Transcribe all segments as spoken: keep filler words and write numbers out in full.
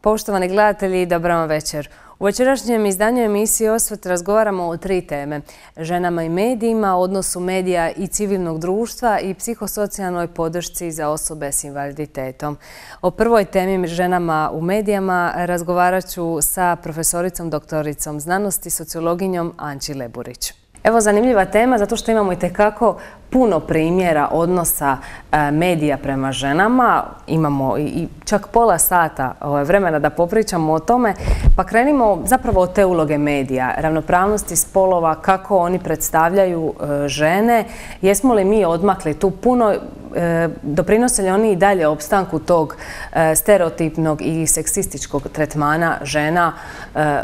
Poštovani gledatelji, dobar vam večer. U večerašnjem izdanju emisije Osvrt razgovaramo o tri teme. Ženama i medijima, odnosu medija i civilnog društva i psihosocijalnoj podršci za osobe s invaliditetom. O prvoj temi ženama u medijama razgovarat ću sa profesoricom, doktoricom znanosti, sociologinjom Anči Leburić. Evo, zanimljiva tema zato što imamo itekako puno primjera odnosa medija prema ženama. Imamo i čak pola sata vremena da popričamo o tome. Pa krenimo zapravo od te uloge medija, ravnopravnosti spolova, kako oni predstavljaju žene. Jesmo li mi odmakli tu puno? Doprinose li oni i dalje opstanku tog stereotipnog i seksističkog tretmana žena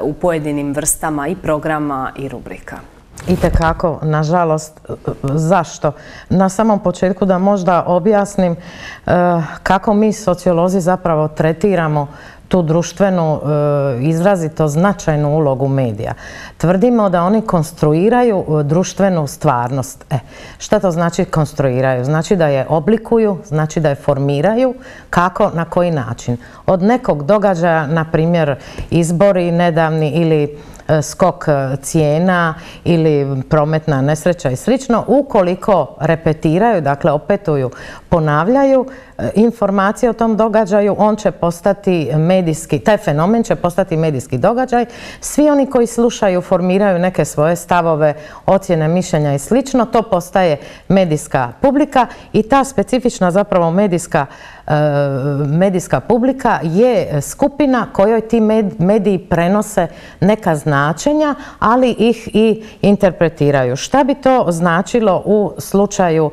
u pojedinim vrstama i programa i rubrika? Itekako, nažalost. Zašto? Na samom početku da možda objasnim kako mi sociolozi zapravo tretiramo tu društvenu, izrazito značajnu ulogu medija. Tvrdimo da oni konstruiraju društvenu stvarnost. E, šta to znači konstruiraju? Znači da je oblikuju, znači da je formiraju. Kako, na koji način? Od nekog događaja, na primjer izbori nedavni ili skok cijena ili prometna nesreća i slično, ukoliko repetiraju, dakle opetuju, ponavljaju informacije o tom događaju, on će postati medijski, taj fenomen će postati medijski događaj. Svi oni koji slušaju, formiraju neke svoje stavove, ocjene, mišljenja i slično, to postaje medijska publika i ta specifična zapravo medijska medijska publika je skupina kojoj ti mediji prenose neka značenja, ali ih i interpretiraju. Šta bi to značilo u slučaju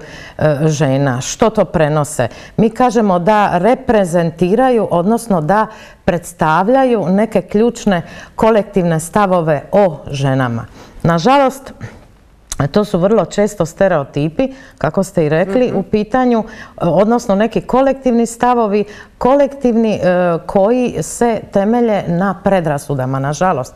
žena? Što to prenose? Mi kažemo da reprezentiraju, odnosno da predstavljaju neke ključne kolektivne stavove o ženama. Nažalost, to su vrlo često stereotipi, kako ste i rekli, u pitanju, odnosno neki kolektivni stavovi, kolektivni koji se temelje na predrasudama, nažalost.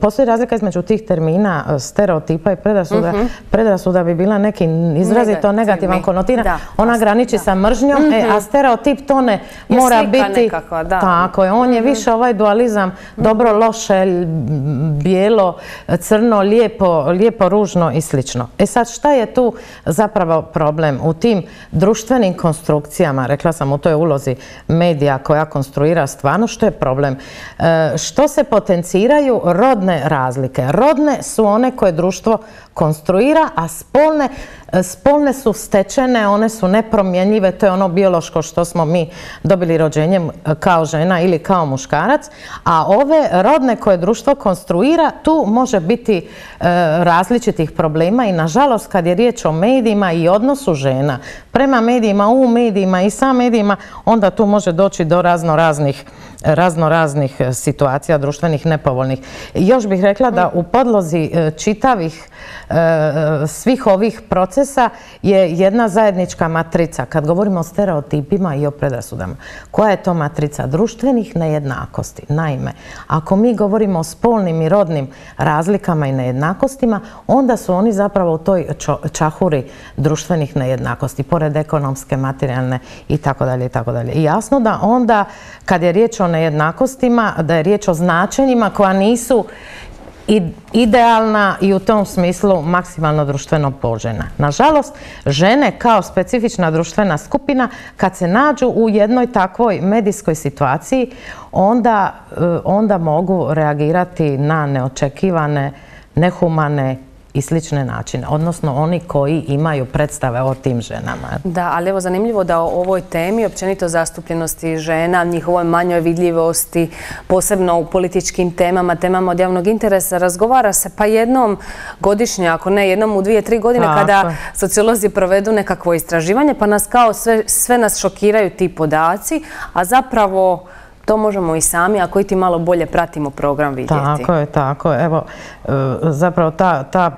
Postoji razlika između tih termina stereotipa i predrasuda. Predrasuda bi bila neki izrazito negativan konotiran. Ona graniči sa mržnjom, a stereotip to ne mora biti. Tako je, on je više ovaj dualizam dobro, loše, bijelo, crno, lijepo, ružno i slično. E sad, šta je tu zapravo problem u tim društvenim konstrukcijama? Rekla sam, u toj ulozi medija koja konstruira stvarno, što je problem? Što se potenciraju rodne razlike? Rodne su one koje društvo konstruira, a spolne, spolne su stečene, one su nepromjenjive, to je ono biološko što smo mi dobili rođenjem kao žena ili kao muškarac, a ove rodne koje društvo konstruira, tu može biti e, različitih problema i nažalost kad je riječ o medijima i odnosu žena prema medijima, u medijima i sa medijima, onda tu može doći do razno raznih razno raznih situacija društvenih nepovoljnih. Još bih rekla da u podlozi čitavih svih ovih procesa je jedna zajednička matrica. Kad govorimo o stereotipima i o predrasudama, koja je to matrica? Društvenih nejednakosti. Naime, ako mi govorimo o spolnim i rodnim razlikama i nejednakostima, onda su oni zapravo u toj čahuri društvenih nejednakosti, pored ekonomske, materijalne i tako dalje i tako dalje. I jasno da onda, kad je riječ o nejednakostima, da je riječ o značenjima koja nisu idealna i u tom smislu maksimalno društveno poželjna. Nažalost, žene kao specifična društvena skupina, kad se nađu u jednoj takvoj medijskoj situaciji, onda, onda mogu reagirati na neočekivane, nehumane i slične načine, odnosno oni koji imaju predstave o tim ženama. Da, ali evo zanimljivo da o ovoj temi, općenito zastupljenosti žena, njihovoj manjoj vidljivosti, posebno u političkim temama, temama od javnog interesa, razgovara se pa jednom godišnje, ako ne jednom u dvije, tri godine, kada sociolozi provedu nekakvo istraživanje, pa nas kao sve, sve nas šokiraju ti podaci, a zapravo to možemo i sami, ako i ti malo bolje pratimo program, vidjeti. Tako je, tako je. Evo, zapravo ta, ta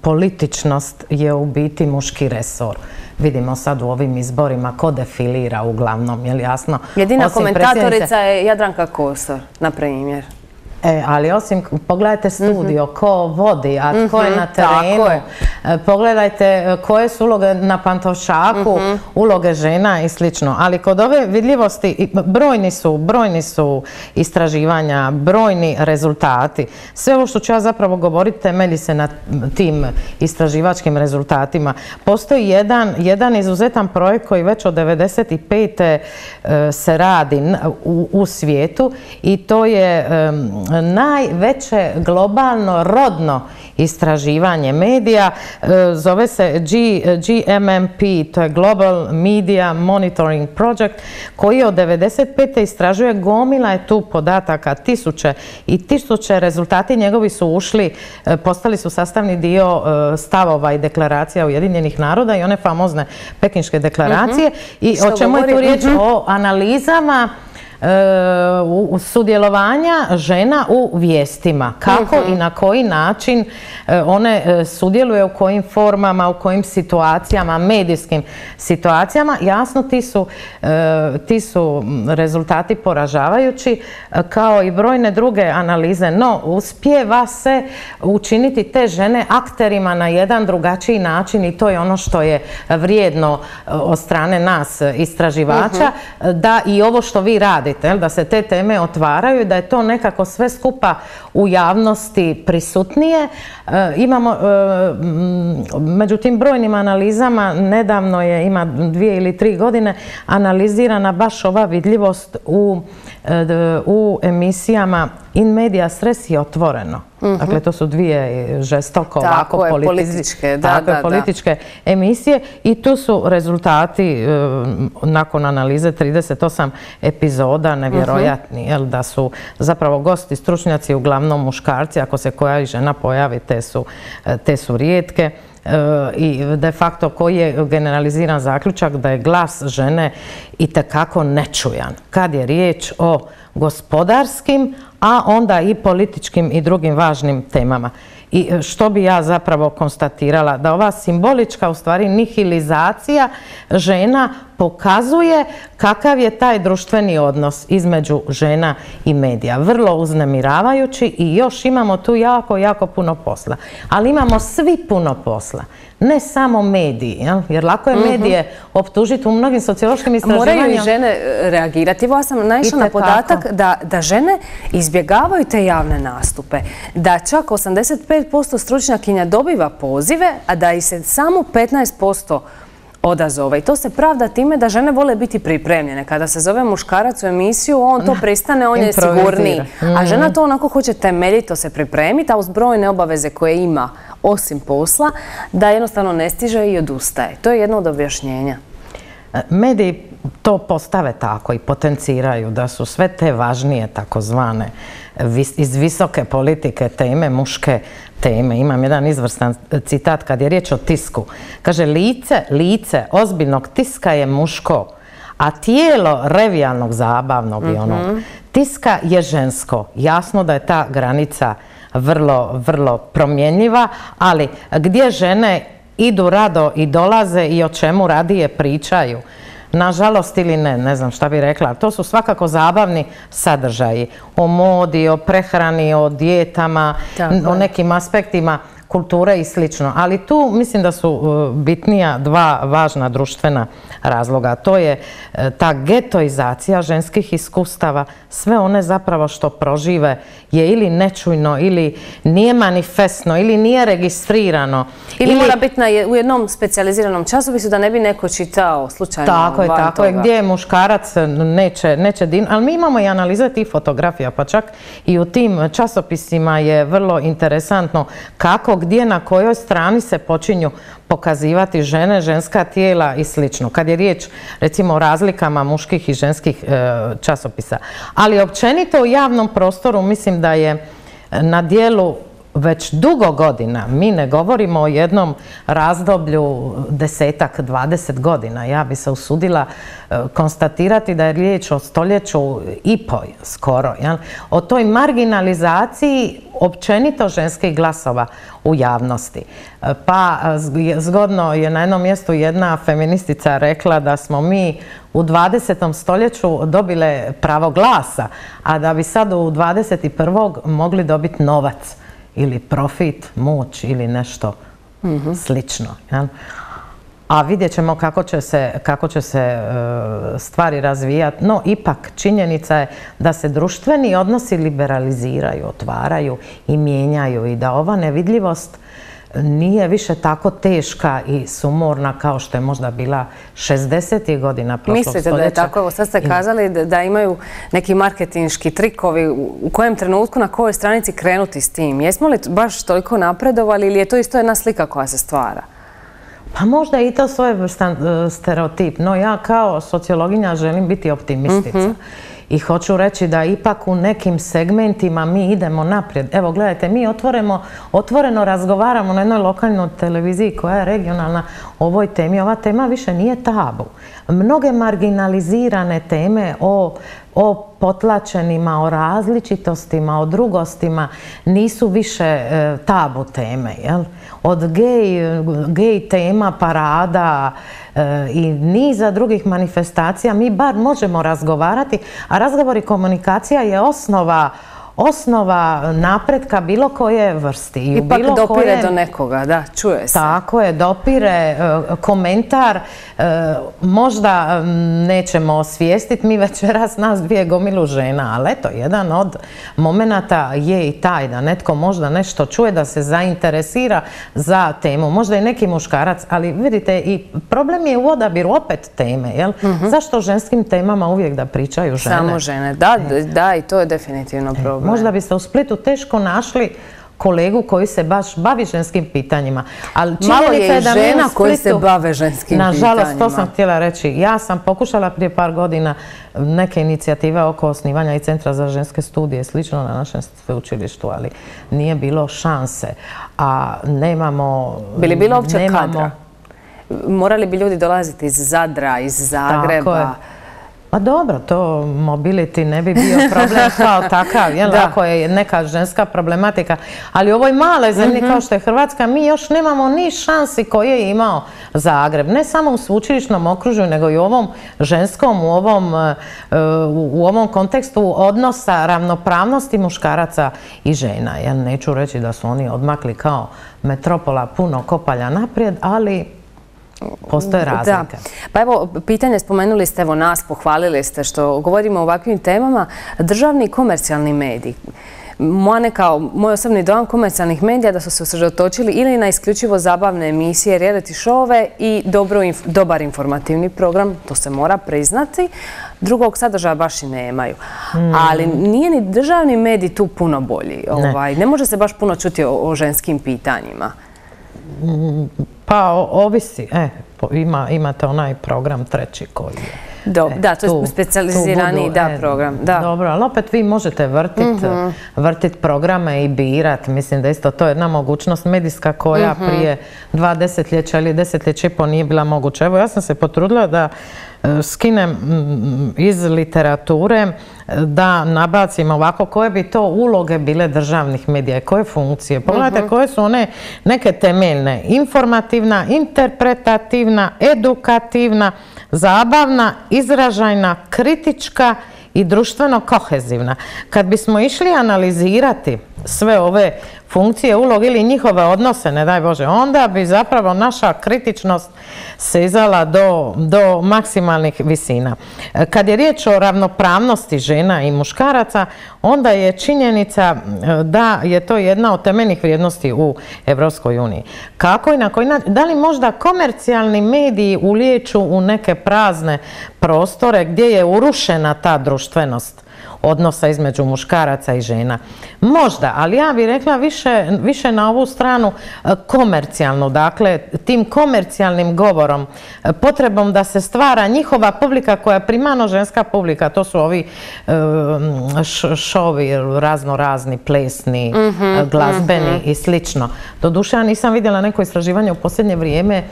političnost je u biti muški resor. Vidimo sad u ovim izborima ko defilira uglavnom, je li jasno? Jedina komentatorica je Jadranka Kosor, na primjer. E, ali osim, pogledajte studio, ko vodi, a tko je na terenu, pogledajte koje su uloge na Pantovčaku, uloge žena i slično. Ali kod ove vidljivosti, brojni su, brojni su istraživanja, brojni rezultati. Sve ovo što ću ja zapravo govoriti temelji se na tim istraživačkim rezultatima. Postoji jedan, jedan izuzetan projekt koji već od devedeset pete se radi u, u svijetu i to je najveće globalno rodno istraživanje medija, zove se G M M P, to je Global Media Monitoring Project, koji od devedeset pete istražuje, gomila je tu podataka, tisuće i tisuće, rezultati njegovi su ušli, postali su sastavni dio stavova i deklaracija Ujedinjenih naroda i one famozne Pekinške deklaracije. I o čemu je tu riječ? O analizama u sudjelovanja žena u vijestima. Kako i na koji način one sudjeluju, u kojim formama, u kojim situacijama, medijskim situacijama. Jasno, ti su, ti su rezultati poražavajući, kao i brojne druge analize, no uspijeva se učiniti te žene akterima na jedan drugačiji način i to je ono što je vrijedno od strane nas istraživača, da i ovo što vi radite, da se te teme otvaraju i da je to nekako sve skupa u javnosti prisutnije. Imamo, među tim brojnim analizama, nedavno je, ima dvije ili tri godine, analizirana baš ova vidljivost u, u emisijama In Medias Res i Otvoreno. Dakle, to su dvije žestoko ovako političke, političke emisije i tu su rezultati nakon analize trideset osam epizoda nevjerojatni, jel, da su zapravo gosti, stručnjaci, uglavnom muškarci, ako se koja i žena pojavi, te su, te su rijetke. I de facto koji je generaliziran zaključak da je glas žene itekako nečujan kad je riječ o gospodarskim, a onda i političkim i drugim važnim temama. I što bi ja zapravo konstatirala? Da ova simbolička, u stvari, nihilizacija žena pokazuje kakav je taj društveni odnos između žena i medija. Vrlo uznemiravajući i još imamo tu jako, jako puno posla. Ali imamo svi puno posla. Ne samo mediji, jel? Jer lako je medije optužiti u mnogim sociološkim istraživanjima. Moraju i žene reagirati. Evo, ja sam naišla na podatak da, da žene izbjegavaju te javne nastupe. Da čak osamdeset pet posto stručnjakinja dobiva pozive, a da i se samo petnaest posto odazove. I to se pravda time da žene vole biti pripremljene. Kada se zove muškarac u emisiju, on to pristane, on je sigurniji. A žena to onako hoće temeljito se pripremiti, a uz brojne obaveze koje ima osim posla, da jednostavno ne stiže i odustaje. To je jedno od objašnjenja. Mediji to postave tako i potenciraju da su sve te važnije takozvane iz visoke politike teme, muške teme. Imam jedan izvrstan citat kad je riječ o tisku. Kaže, lice, lice ozbiljnog tiska je muško, a tijelo revijalnog, zabavnog i onog tiska je žensko. Jasno da je ta granica vrlo, vrlo promjenjiva, ali gdje žene idu rado i dolaze i o čemu radije pričaju, nažalost ili ne, ne znam šta bih rekla, to su svakako zabavni sadržaji o modi, o prehrani, o dijetama, o nekim aspektima kulture i slično. Ali tu mislim da su bitnija dva važna društvena razloga. To je ta getoizacija ženskih iskustava. Sve one zapravo što prožive je ili nečujno, ili nije manifestno, ili nije registrirano. Ili mora biti u jednom specijaliziranom časopisu da ne bi neko čitao slučajno. Tako je, tako je. Gdje je muškarac neće din. Ali mi imamo i analize tih fotografija, pa čak i u tim časopisima je vrlo interesantno kako, gdje, na kojoj strani se počinju pokazivati žene, ženska tijela i slično. Kad je riječ, recimo, o razlikama muških i ženskih časopisa. Ali općenito u javnom prostoru mislim da je na dijelu već dugo godina, mi ne govorimo o jednom razdoblju desetak, dvadeset godina. Ja bi se usudila konstatirati da je riječ o stoljeću i po skoro. Jel? O toj marginalizaciji općenito ženskih glasova u javnosti. Pa zgodno je na jednom mjestu jedna feministica rekla da smo mi u dvadesetom stoljeću dobile pravo glasa, a da bi sad u dvadeset prvom mogli dobiti novac ili profit, moć ili nešto mm-hmm. slično. Jel? A vidjet ćemo kako će se, kako će se e, stvari razvijati. No, ipak činjenica je da se društveni odnosi liberaliziraju, otvaraju i mijenjaju i da ova nevidljivost nije više tako teška i sumorna kao što je možda bila šezdesetih godina prošlog stoljeća. Mislite da je tako? Evo sad ste kazali da, da imaju neki marketinški trikovi. U kojem trenutku, na kojoj stranici krenuti s tim? Jesmo li baš toliko napredovali ili je to isto jedna slika koja se stvara? Pa možda i to svojevrstan stereotip, no ja kao sociologinja želim biti optimistica. Mm-hmm. I hoću reći da ipak u nekim segmentima mi idemo naprijed. Evo, gledajte, mi otvoreno, otvoreno razgovaramo na jednoj lokalnoj televiziji koja je regionalna o ovoj temi. Ova tema više nije tabu. Mnoge marginalizirane teme o, o potlačenima, o različitostima, o drugostima nisu više e, tabu teme. Jel? Od gej, gej tema, parada e, i niza drugih manifestacija mi bar možemo razgovarati, a razgovor i komunikacija je osnova osnova napretka bilo koje vrsti. I ipak bilo dopire koje, do nekoga, da, čuje se. Tako je, dopire, komentar, možda nećemo osvijestiti, mi večeras nas dvije gomilu žena, ali eto, jedan od momenata je i taj da netko možda nešto čuje, da se zainteresira za temu, možda i neki muškarac, ali vidite, i problem je u odabiru opet teme, jel? Mm-hmm. Zašto ženskim temama uvijek da pričaju žene? Samo žene, da, da, i to je definitivno problem. Možda biste u Splitu teško našli kolegu koji se baš bavi ženskim pitanjima. Ali malo je i žena koji se bave ženskim pitanjima. Nažalost, to sam htjela reći. Ja sam pokušala prije par godina neke inicijative oko osnivanja i Centra za ženske studije, slično na našem sveučilištu, ali nije bilo šanse. A nemamo... Bi li bilo uopće kadra? Morali bi ljudi dolaziti iz Zadra, iz Zagreba? Tako je. Pa dobro, to mobility ne bi bio problem kao takav, jel? Ako je neka ženska problematika. Ali u ovoj male zemlji mm-hmm. kao što je Hrvatska, mi još nemamo ni šansi koje je imao Zagreb. Ne samo u sveučilišnom okružju, nego i u ovom ženskom, u ovom, u ovom kontekstu odnosa ravnopravnosti muškaraca i žena. Ja neću reći da su oni odmakli kao metropola puno kopalja naprijed, ali... postoje razlike. Da. Pa evo, pitanje, spomenuli ste, evo nas, pohvalili ste što govorimo o ovakvim temama. Državni i komercijalni mediji. Moja neka, moj osobni dojam komercijalnih medija da su se usredotočili ili na isključivo zabavne emisije, reality showove i dobro, dobar informativni program, to se mora priznati. Drugog sadržaja baš i nemaju. Mm. Ali nije ni državni medij tu puno bolji. Ne, ovaj, ne može se baš puno čuti o, o ženskim pitanjima. Mm. Pa ovisi, e, ima, imate onaj program treći koji je. Do, e, da, to je specijalizirani da, e, program. Da. Dobro, ali opet vi možete vrtiti mm-hmm. vrtit programe i birati. Mislim da isto to je jedna mogućnost medijska koja mm-hmm. prije dva desetljeća ili desetljeća i po nije bila moguća. Evo, ja sam se potrudila da skinem iz literature, da nabacim ovako koje bi to uloge bile državnih medija i koje funkcije. Pogledajte uh-huh. koje su one neke temeljne. Informativna, interpretativna, edukativna, zabavna, izražajna, kritička i društveno kohezivna. Kad bismo išli analizirati sve ove funkcije, uloge ili njihove odnose, ne daj Bože, onda bi zapravo naša kritičnost sezala do, do maksimalnih visina. Kad je riječ o ravnopravnosti žena i muškaraca, onda je činjenica da je to jedna od temeljnih vrijednosti u Evropskoj uniji. Kako i na koji način? Da li možda komercijalni mediji ulijeću u neke prazne prostore gdje je urušena ta društvenost? odnosa između muškaraca i žena. Možda, ali ja bih rekla više, više na ovu stranu komercijalnu, dakle tim komercijalnim govorom, potrebom da se stvara njihova publika koja je primarno ženska publika, to su ovi šovi razno razni, plesni, mm-hmm, glazbeni, mm-hmm, i slično. Doduše, ja nisam vidjela neko istraživanje u posljednje vrijeme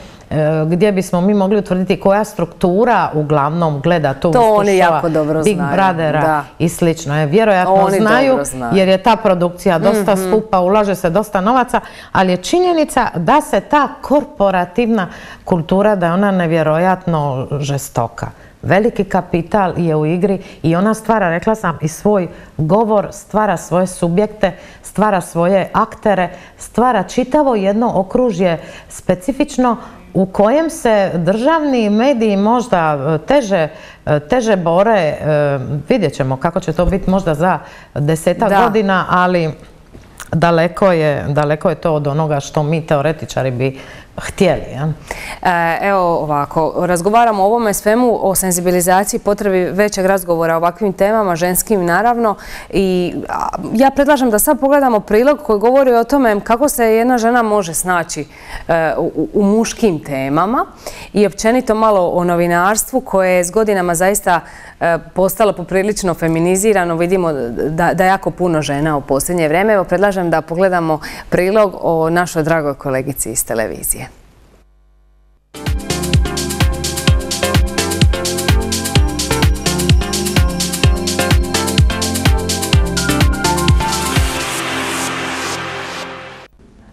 gdje bismo mi mogli utvrditi koja struktura uglavnom gleda tu to oni jako dobro Big znaju. Brothera Da. i slično. Vjerojatno oni znaju, znaju jer je ta produkcija dosta, mm-hmm, skupa, ulaže se dosta novaca, ali je činjenica da se ta korporativna kultura, da je ona nevjerojatno žestoka. Veliki kapital je u igri i ona stvara, rekla sam, i svoj govor, stvara svoje subjekte, stvara svoje aktere, stvara čitavo jedno okružje specifično u kojem se državni mediji možda teže, teže bore. Vidjet ćemo kako će to biti možda za desetak da. godina, ali daleko je, daleko je to od onoga što mi teoretičari bi htjeli. Ja? E, evo ovako, razgovaramo o ovome svemu, o senzibilizaciji, potrebi većeg razgovora o ovakvim temama, ženskim naravno. I ja predlažem da sad pogledamo prilog koji govori o tome kako se jedna žena može snaći e, u, u muškim temama i općenito malo o novinarstvu koje je s godinama zaista e, postalo poprilično feminizirano. Vidimo da, da jako puno žena u posljednje vrijeme. Evo predlažem da pogledamo prilog o našoj dragoj kolegici iz televizije.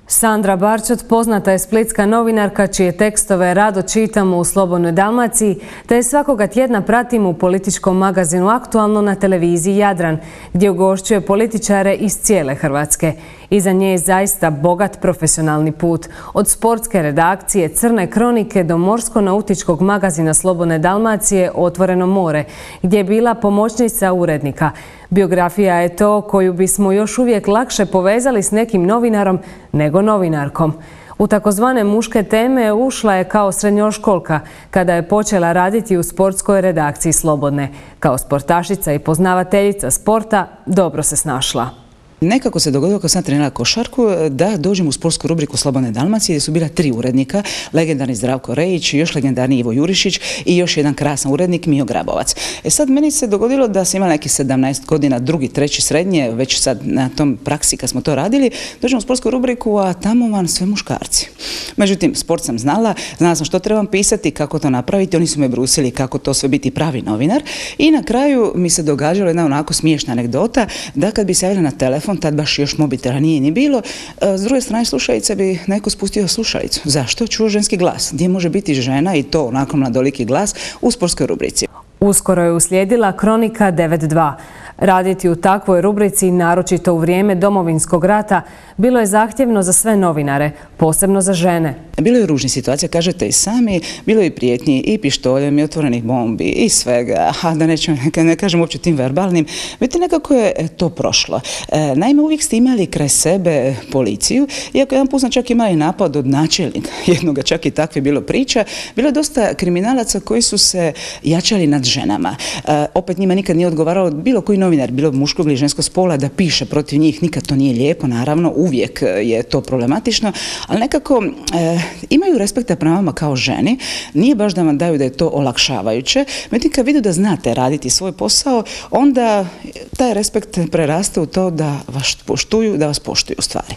Sandra Barčot poznata je splitska novinarka čije tekstove rado čitamo u Slobodnoj Dalmaciji, te je svakoga tjedna pratimo u političkom magazinu Aktualno na televiziji Jadran, gdje ugošćuje političare iz cijele Hrvatske. Iza nje je zaista bogat profesionalni put. Od sportske redakcije Crne kronike do morsko-nautičkog magazina Slobodne Dalmacije Otvoreno more, gdje je bila pomoćnica urednika. Biografija je to koju bismo još uvijek lakše povezali s nekim novinarom nego novinarkom. U takozvane muške teme ušla je kao srednjoškolka kada je počela raditi u sportskoj redakciji Slobodne. Kao sportašica i poznavateljica sporta dobro se snašla. Nekako se dogodilo kad sam trenirala košarku da dođem u sportsku rubriku Slobodne Dalmacije gdje su bila tri urednika, legendarni Zdravko Rejić, još legendarni Ivo Jurišić i još jedan krasan urednik Mijo Grabovac. E sad meni se dogodilo da sam imala neki sedamnaest godina, drugi, treći srednje, već sad na tom praksi kad smo to radili, dođem u sportsku rubriku, a tamo vam sve muškarci. Međutim, sport sam znala, znala sam što trebam pisati, kako to napraviti, oni su me brusili kako to sve biti pravi novinar i na kraju mi se događalo jedna onako smiješna anegdota da kad bi se javila na telefon, tad baš još mobitela nije ni bilo, s druge strane slušalice bi neko spustio slušalicu. Zašto? Čuo ženski glas. Gdje može biti žena i to onako mladoliki glas u sportskoj rubrici. Uskoro je uslijedila Kronika devet dva. Raditi u takvoj rubrici, naročito u vrijeme Domovinskog rata, bilo je zahtjevno za sve novinare, posebno za žene. Bilo je ružnih situacija, kažete i sami, bilo je i prijetnji, i pištoljem, i otvorenih bombi, i svega, a da nećemo, ne kažem uopće tim verbalnim. Vidite, nekako je to prošlo. E, naime, uvijek ste imali kraj sebe policiju, iako jedan put sam čak imali napad od načelnika, jednoga čak i takve bilo priča, bilo je dosta kriminalaca koji su se jačali nad ženama. E, opet njima nikad nije odgovaralo bilo koji novinar, bilo muškog ili ženskog spola, da piše protiv njih, nikad to nije lijepo, naravno, uvijek je to problematično, ali nekako e, imaju respekta prema vama kao ženi, nije baš da vam daju da je to olakšavajuće, međutim kad vidu da znate raditi svoj posao, onda taj respekt preraste u to da vas poštuju, da vas poštuju u stvari.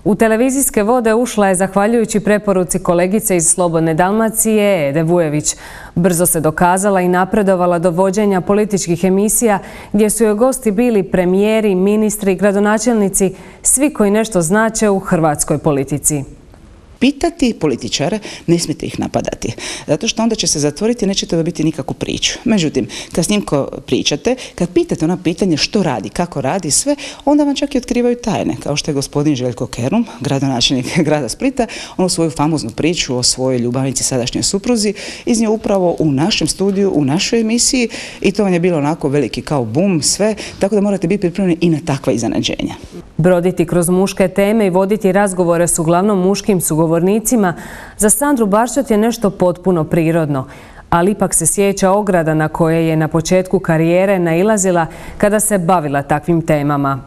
U televizijske vode ušla je zahvaljujući preporuci kolegice iz Slobodne Dalmacije, Ede Vujević. Brzo se dokazala i napredovala do vođenja političkih emisija gdje su joj gosti bili premijeri, ministri, gradonačelnici, svi koji nešto znače u hrvatskoj politici. Pitati političare, ne smijete ih napadati, zato što onda će se zatvoriti i nećete dobiti nikakvu priču. Međutim, kad s njim ko pričate, kad pitate ona pitanje što radi, kako radi, sve, onda vam čak i otkrivaju tajne, kao što je gospodin Željko Kerum, gradonačelnik grada Splita, onu svoju famoznu priču o svojoj ljubavnici, sadašnjoj supruzi, iznio upravo u našem studiju, u našoj emisiji i to vam je bilo onako veliki kao bum, sve, tako da morate biti pripremljeni i na takva iznenađenja. Broditi kroz muške teme i voditi razgovore s uglavnom muškim sugovornicima za Sandru Barčot je nešto potpuno prirodno. ali ipak se sjeća ograda na koje je na početku karijere nailazila kada se bavila takvim temama.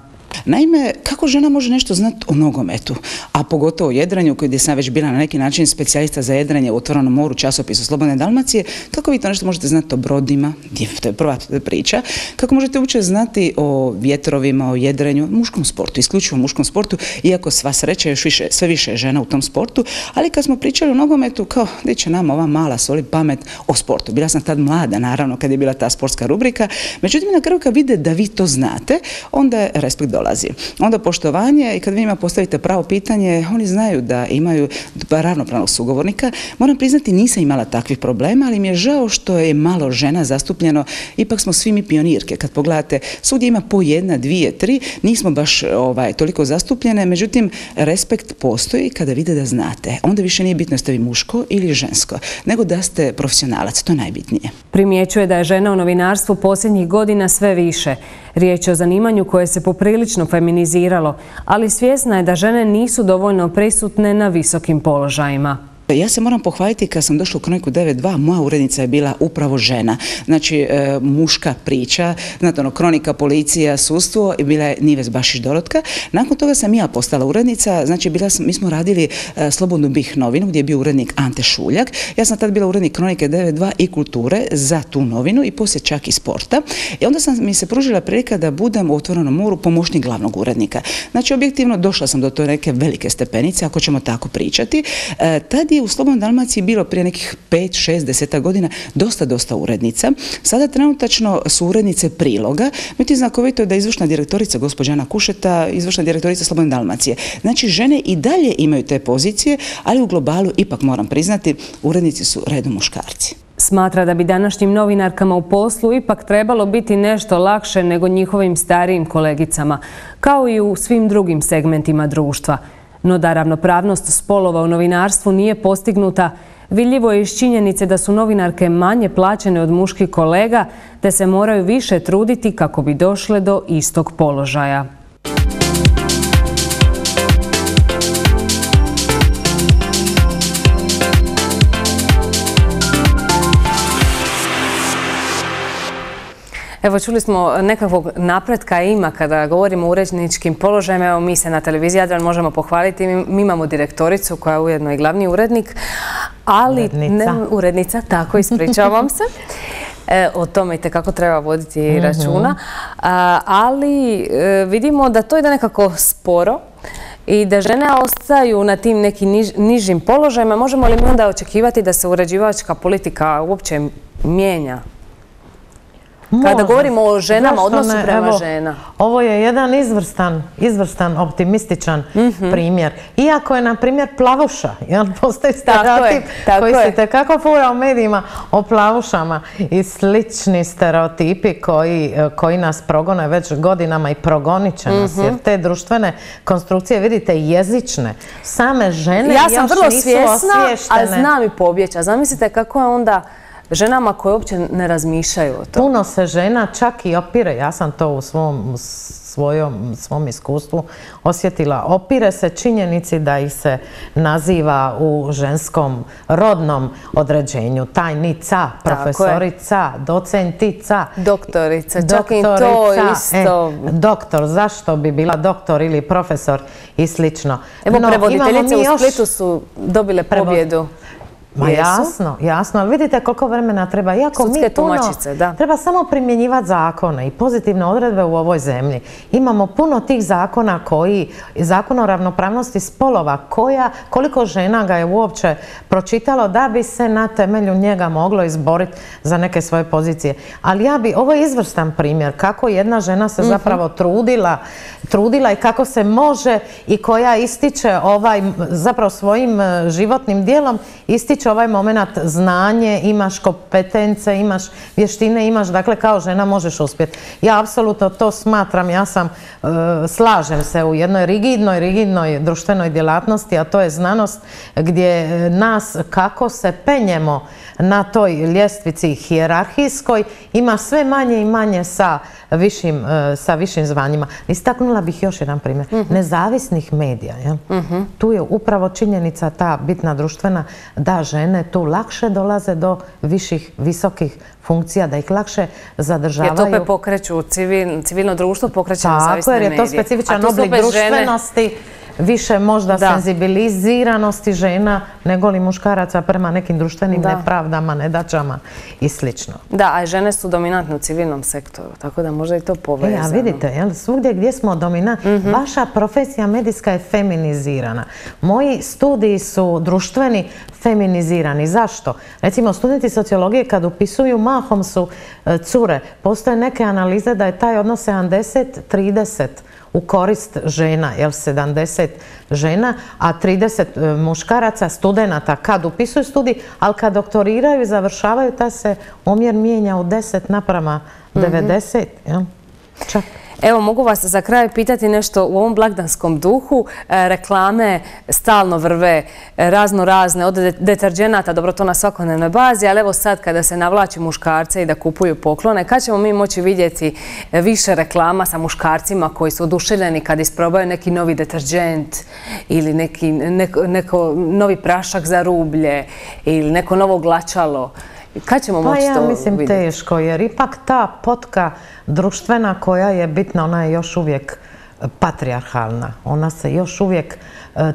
Naime, kako žena može nešto znati o nogometu, a pogotovo o jedranju, gdje sam već bila na neki način specijalista za jedranje u Otvorenom moru, časopisu Slobodne Dalmacije, kako vi to nešto možete znati o brodima, to je prva priča, kako možete uopće znati o vjetrovima, o jedrenju, muškom sportu, isključivo muškom sportu, iako sva sreća još više, sve više žena u tom sportu, ali kad smo pričali o nogometu, kao gdje će nam ova mala soli pamet o sportu. Bila sam tad mlada, naravno, kad je bila ta sportska rubrika, međutim, na kraju kad vide da vi to znate, onda je respekt dolazi. Onda poštovanje i kad vi njima postavite pravo pitanje, oni znaju da imaju ravnopravnog sugovornika. Moram priznati, nisam imala takvih problema, ali mi je žao što je malo žena zastupljeno. Ipak smo svi mi pionirke. Kad pogledate, svugdje ima po jedna, dvije, tri, nismo baš ovaj, toliko zastupljene, međutim, respekt postoji kada vide da znate. Onda više nije bitno ste vi muško ili žensko, nego da ste profesionalac, to je najbitnije. Primjećuje da je žena u novinarstvu posljednjih godina sve više. Riječ je o zanimanju koje se poprilično feminiziralo, ali svjesna je da žene nisu dovoljno prisutne na visokim položajima. Ja se moram pohvaliti kad sam došla u Kroniku devet dva, moja urednica je bila upravo žena. Znači, e, muška priča, znate ono, Kronika, policija, sudstvo i bila je Nives Bašić Dorotka. Nakon toga sam ja postala urednica, znači bila sam, mi smo radili e, Slobodnu bih novinu gdje je bio urednik Ante Šuljak. Ja sam tad bila urednik Kronike devet dva i kulture za tu novinu i poslije čak i sporta. I onda sam mi se pružila prilika da budem u Otvorenom moru pomoćnik glavnog urednika. Znači, objektivno došla sam do to neke velike stepenice, ako ćemo tako pričati. E, tad je u Slobodnoj Dalmaciji bilo prije nekih pet, šest, deset godina dosta, dosta urednica. Sada trenutačno su urednice priloga. Međutim, znakovito je da je izvršna direktorica gospođa Ana Kušeta, izvršna direktorica Slobodne Dalmacije. Znači, žene i dalje imaju te pozicije, ali u globalu, ipak moram priznati, urednici su redom muškarci. Smatra da bi današnjim novinarkama u poslu ipak trebalo biti nešto lakše nego njihovim starijim kolegicama, kao i u svim drugim segmentima društva. No da ravnopravnost spolova u novinarstvu nije postignuta, vidljivo je iz činjenice da su novinarke manje plaćene od muških kolega, te se moraju više truditi kako bi došle do istog položaja. Evo, čuli smo nekakvog napretka ima kada govorimo o uredničkim položajima. Evo, mi se na televiziji Jadran možemo pohvaliti. Mi imamo direktoricu koja je ujedno i glavni urednik. Ali, urednica. Ne, urednica, tako, ispričavam se. E, o tome i tekako treba voditi mm-hmm. računa. A, ali e, vidimo da to ide nekako sporo i da žene ostaju na tim nekim niž, nižim položajima. Možemo li mi onda očekivati da se uređivačka politika uopće mijenja? Kada Može. govorimo o ženama, odnosu prema Evo, žena. Ovo je jedan izvrstan, izvrstan, optimističan mm-hmm. primjer. Iako je, na primjer, plavuša. Jel, postoji stereotip koji se tekako fura u medijima o plavušama i slični stereotipi koji, koji nas progone već godinama i progonit će nas. Mm-hmm. Jer te društvene konstrukcije, vidite, jezične. Same žene ja sam još vrlo nisu svjesna, osviještene. a znam i pobjeća. Zamislite kako je onda ženama koje uopće ne razmišljaju o to. Puno se žena čak i opire, ja sam to u svom, svojom, svom iskustvu osjetila, opire se činjenici da ih se naziva u ženskom rodnom određenju. Tajnica, profesorica, docentica. Doktorica, čak i to isto. E, doktor, zašto bi bila doktor ili profesor i slično. Evo, no, prevoditeljice u Splitu su dobile pobjedu. Ma jasno, jasno, ali vidite koliko vremena treba. Iako Sudske mi puno, tumačice, da. Treba samo primjenjivati zakone i pozitivne odredbe u ovoj zemlji. Imamo puno tih zakona koji, zakon o ravnopravnosti spolova, koja, koliko žena ga je uopće pročitalo da bi se na temelju njega moglo izboriti za neke svoje pozicije. Ali ja bi, ovo je izvrstan primjer kako jedna žena se zapravo trudila, trudila i kako se može i koja ističe ovaj, zapravo svojim životnim dijelom, ističe ovaj moment znanje, imaš kompetence, imaš vještine, imaš, dakle kao žena možeš uspjeti. Ja apsolutno to smatram, ja sam, e, slažem se u jednoj rigidnoj, rigidnoj društvenoj djelatnosti, a to je znanost gdje nas kako se penjemo na toj ljestvici hijerarhijskoj ima sve manje i manje sa višim, sa višim zvanjima. Istaknula bih još jedan primjer. Nezavisnih medija. Jel? Tu je upravo činjenica ta bitna društvena da žene tu lakše dolaze do viših, visokih funkcija, da ih lakše zadržavaju. Jer to opet pokreću civilno društvo, pokreće nezavisne medije. Tako, jer je to specifičan oblik društvenosti, više možda senzibiliziranosti žena nego li muškaraca prema nekim društvenim nepravdama, nedaćama i slično. Da, a žene su dominantne u civilnom sektoru, tako da možda i to povezano. E, a vidite, svugdje gdje smo dominantni, vaša profesija medijska je feminizirana. Moji studiji su društveni feminizirani. Zašto? Recimo, studenti sociologije kad upisuju, mahom su cure. Postoje neke analize da je taj odnos sedamdeset trideset u korist žena, jel sedamdeset žena, a trideset muškaraca, studenata kad upisuju studij, ali kad doktoriraju i završavaju, ta se omjer mijenja u deset naprama devedeset. Čak. Evo, mogu vas za kraj pitati nešto u ovom blagdanskom duhu. Reklame stalno vrve razno razne, od deterđenata, dobro to na svakodnevnoj bazi, ali evo sad kada se navlači muškarce i da kupuju poklone, kad ćemo mi moći vidjeti više reklama sa muškarcima koji su oduševljeni kad isprobaju neki novi deterđent ili neki neko novi prašak za rublje ili neko novo glačalo? Kad ćemo moći to vidjeti? Pa ja mislim teško, jer ipak ta potka društvena koja je bitna, ona je još uvijek patrijarhalna. Ona se još uvijek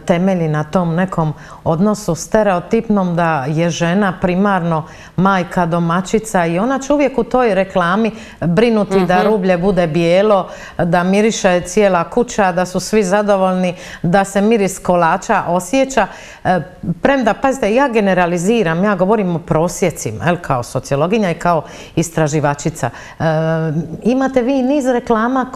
temelji na tom nekom odnosu stereotipnom da je žena primarno majka, domaćica i ona će uvijek u toj reklami brinuti da rublje bude bijelo, da miriše cijela kuća, da su svi zadovoljni, da se miris kolača osjeća. Premda, pazite, ja generaliziram, ja govorim o prosjecima, kao sociologinja i kao istraživačica. Imate vi niz reklama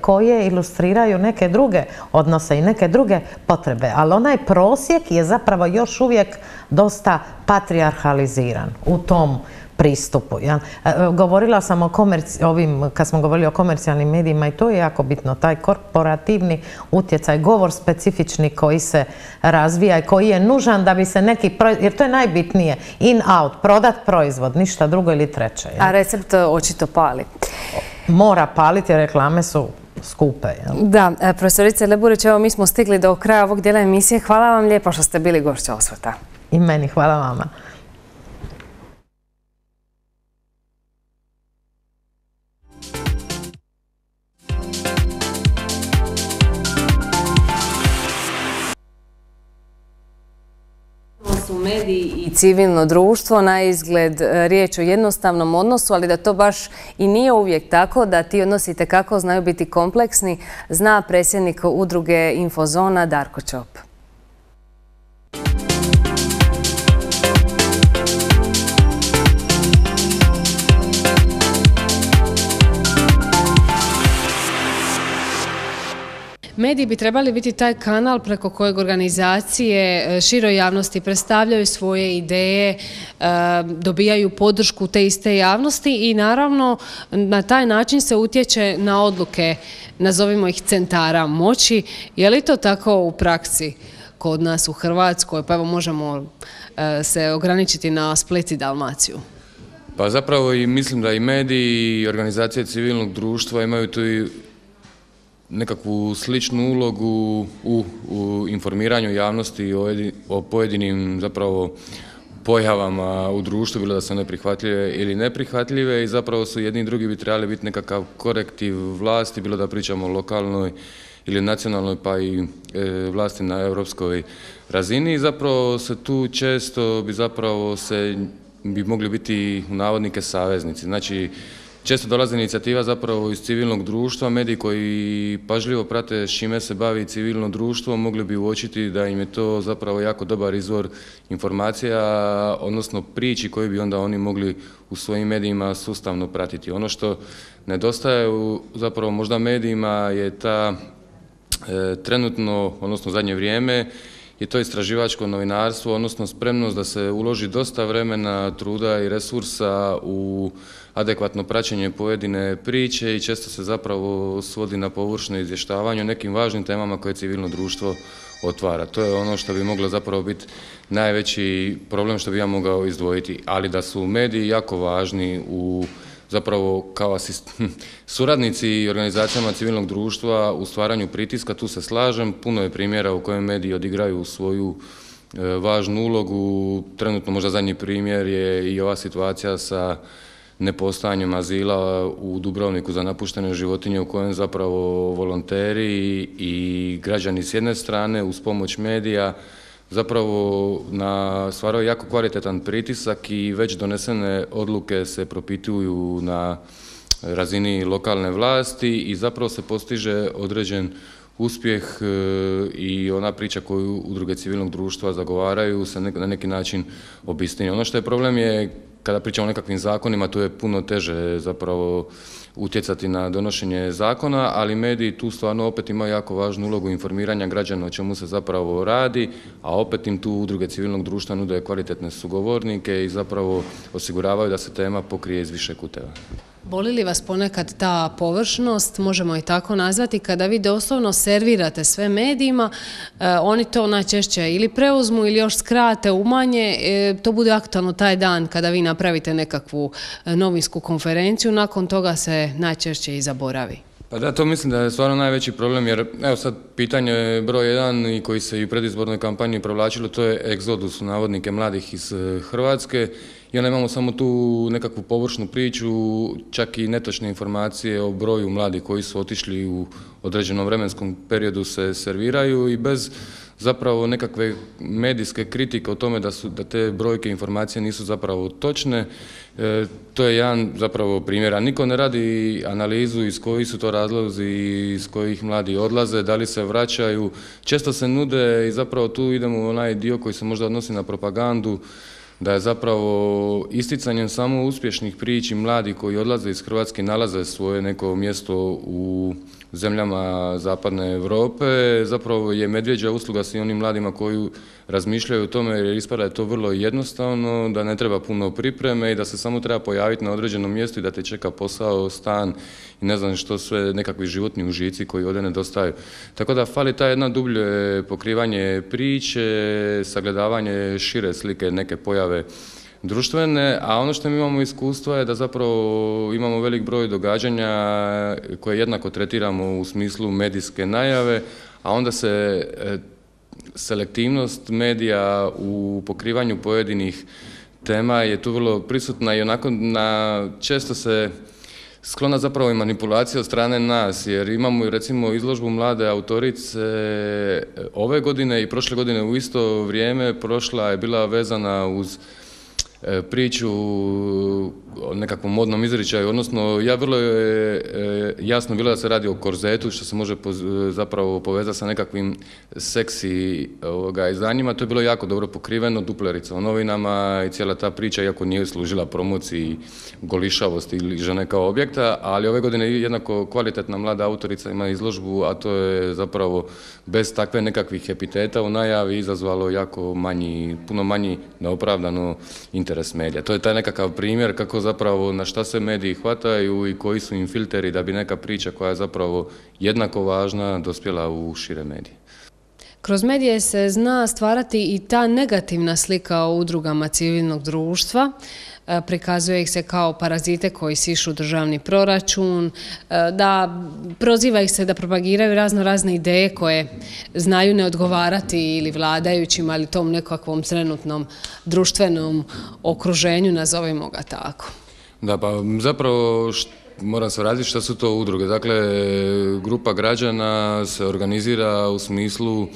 koje ilustriraju neke druge odnose i neke druge potrebe, ali onaj prosjek je zapravo još uvijek dosta patrijarhaliziran u tom pristupu. Govorila sam o ovim, kad smo govorili o komercijalnim medijima, i to je jako bitno, taj korporativni utjecaj, govor specifični koji se razvija i koji je nužan da bi se neki proizvod, jer to je najbitnije, in-out, prodat proizvod, ništa drugo ili treće. A recept očito pali. Mora paliti, jer reklame su skupe. Da, profesorice Leburić, evo mi smo stigli do kraja ovog dijela emisije. Hvala vam lijepo što ste bili gošća Osvrta. I meni, hvala vama. Su mediji i civilno društvo, na izgled riječ o jednostavnom odnosu, ali da to baš i nije uvijek tako, da ti odnosi tekako znaju biti kompleksni, zna predsjednik udruge Infozona Darko Ćop. Mediji bi trebali biti taj kanal preko kojeg organizacije široj javnosti predstavljaju svoje ideje, dobijaju podršku te iste javnosti i naravno na taj način se utječe na odluke, nazovimo ih centara moći. Je li to tako u praksi kod nas u Hrvatskoj? Pa evo možemo se ograničiti na Split i Dalmaciju. Pa zapravo i mislim da i mediji i organizacije civilnog društva imaju tu i nekakvu sličnu ulogu u, u informiranju javnosti o, o pojedinim zapravo pojavama u društvu, bilo da su one prihvatljive ili neprihvatljive, i zapravo su jedni i drugi bi trebali biti nekakav korektiv vlasti, bilo da pričamo o lokalnoj ili nacionalnoj, pa i e, vlasti na europskoj razini. I zapravo se tu često bi zapravo se bi mogli biti u navodnike saveznici. Znači, često dolazi inicijativa zapravo iz civilnog društva, mediji koji pažljivo prate s čime se bavi civilno društvo mogli bi uočiti da im je to zapravo jako dobar izvor informacija, odnosno priči koji bi onda oni mogli u svojim medijima sustavno pratiti. Ono što nedostaje u zapravo možda medijima je ta e, trenutno, odnosno zadnje vrijeme, je to istraživačko novinarstvo, odnosno spremnost da se uloži dosta vremena, truda i resursa u adekvatno praćenje pojedine priče i često se zapravo svodi na površno izvještavanje o nekim važnim temama koje civilno društvo otvara. To je ono što bi moglo zapravo biti najveći problem što bi ja mogao izdvojiti, ali da su mediji jako važni u zapravo kao asist, suradnici i organizacijama civilnog društva u stvaranju pritiska, tu se slažem. Puno je primjera u kojem mediji odigraju svoju važnu ulogu. Trenutno možda zadnji primjer je i ova situacija sa nepostojanjem azila u Dubrovniku za napuštene životinje u kojem zapravo volonteri i građani s jedne strane uz pomoć medija zapravo na stvaraju jako kvalitetan pritisak i već donesene odluke se propituju na razini lokalne vlasti i zapravo se postiže određen uspjeh i ona priča koju udruge civilnog društva zagovaraju se na neki način obistinje. Ono što je problem je kada pričamo o nekakvim zakonima, tu je puno teže zapravo utjecati na donošenje zakona, ali mediji tu stvarno opet imaju jako važnu ulogu informiranja građana o čemu se zapravo radi, a opet im tu udruge civilnog društva nude kvalitetne sugovornike i zapravo osiguravaju da se tema pokrije iz više kuteva. Boli li vas ponekad ta površnost, možemo i tako nazvati, kada vi doslovno servirate sve medijima, eh, oni to najčešće ili preuzmu ili još skrate, umanje, eh, to bude aktualno taj dan kada vi napravite nekakvu eh, novinsku konferenciju, nakon toga se najčešće i zaboravi. Pa da, to mislim da je stvarno najveći problem, jer evo sad pitanje broj jedan i koji se i u predizbornoj kampanji provlačilo, to je egzodus u navodnike mladih iz Hrvatske. I onda imamo samo tu nekakvu površnu priču, čak i netočne informacije o broju mladih koji su otišli u određenom vremenskom periodu se serviraju i bez zapravo nekakve medijske kritike o tome da, su, da te brojke informacije nisu zapravo točne. E, to je jedan zapravo primjer, a niko ne radi analizu iz kojih su to razlozi, iz kojih mladi odlaze, da li se vraćaju. Često se nude i zapravo tu idemo u onaj dio koji se možda odnosi na propagandu, da je zapravo isticanjem samo uspješnih priči mladi koji odlaze iz Hrvatske nalaze svoje neko mjesto u zemljama zapadne Europe, zapravo je medvjeđa usluga svim onim mladima koji razmišljaju o tome jer ispada je to vrlo jednostavno, da ne treba puno pripreme i da se samo treba pojaviti na određenom mjestu i da te čeka posao, stan i ne znam što sve, nekakvi životni užici koji ovdje nedostaju. Tako da fali ta jedna dublje pokrivanje priče, sagledavanje šire slike neke pojave društvene, a ono što mi imamo iskustva je da zapravo imamo velik broj događanja koje jednako tretiramo u smislu medijske najave, a onda se selektivnost medija u pokrivanju pojedinih tema je tu vrlo prisutna i onako na, često se sklona zapravo i manipulacija od strane nas, jer imamo recimo izložbu mlade autorice ove godine i prošle godine u isto vrijeme, prošla je bila vezana uz priču o nekakvom modnom izričaju, odnosno ja vrlo je jasno bilo da se radi o korzetu, što se može zapravo povezati sa nekakvim seksi ovoga, izdanjima. To je bilo jako dobro pokriveno, duplerica u novinama i cijela ta priča, iako nije služila promociji golišavosti ili žene kao objekta, ali ove godine jednako kvalitetna mlada autorica ima izložbu, a to je zapravo bez takve nekakvih epiteta u najavi izazvalo jako manji, puno manji neopravdano interes medija. To je taj nekakav primjer kako zapravo na šta se mediji hvataju i koji su im filteri da bi neka priča koja je zapravo jednako važna dospjela u šire medije. Kroz medije se zna stvarati i ta negativna slika o udrugama civilnog društva. Prikazuje ih se kao parazite koji sišu državni proračun, da proziva ih se da propagiraju razno razne ideje koje znaju ne odgovarati ili vladajućima ili tom nekakvom trenutnom društvenom okruženju, nazovimo ga tako. Da, pa zapravo moram se vratiti što su to udruge. Dakle, grupa građana se organizira u smislu e,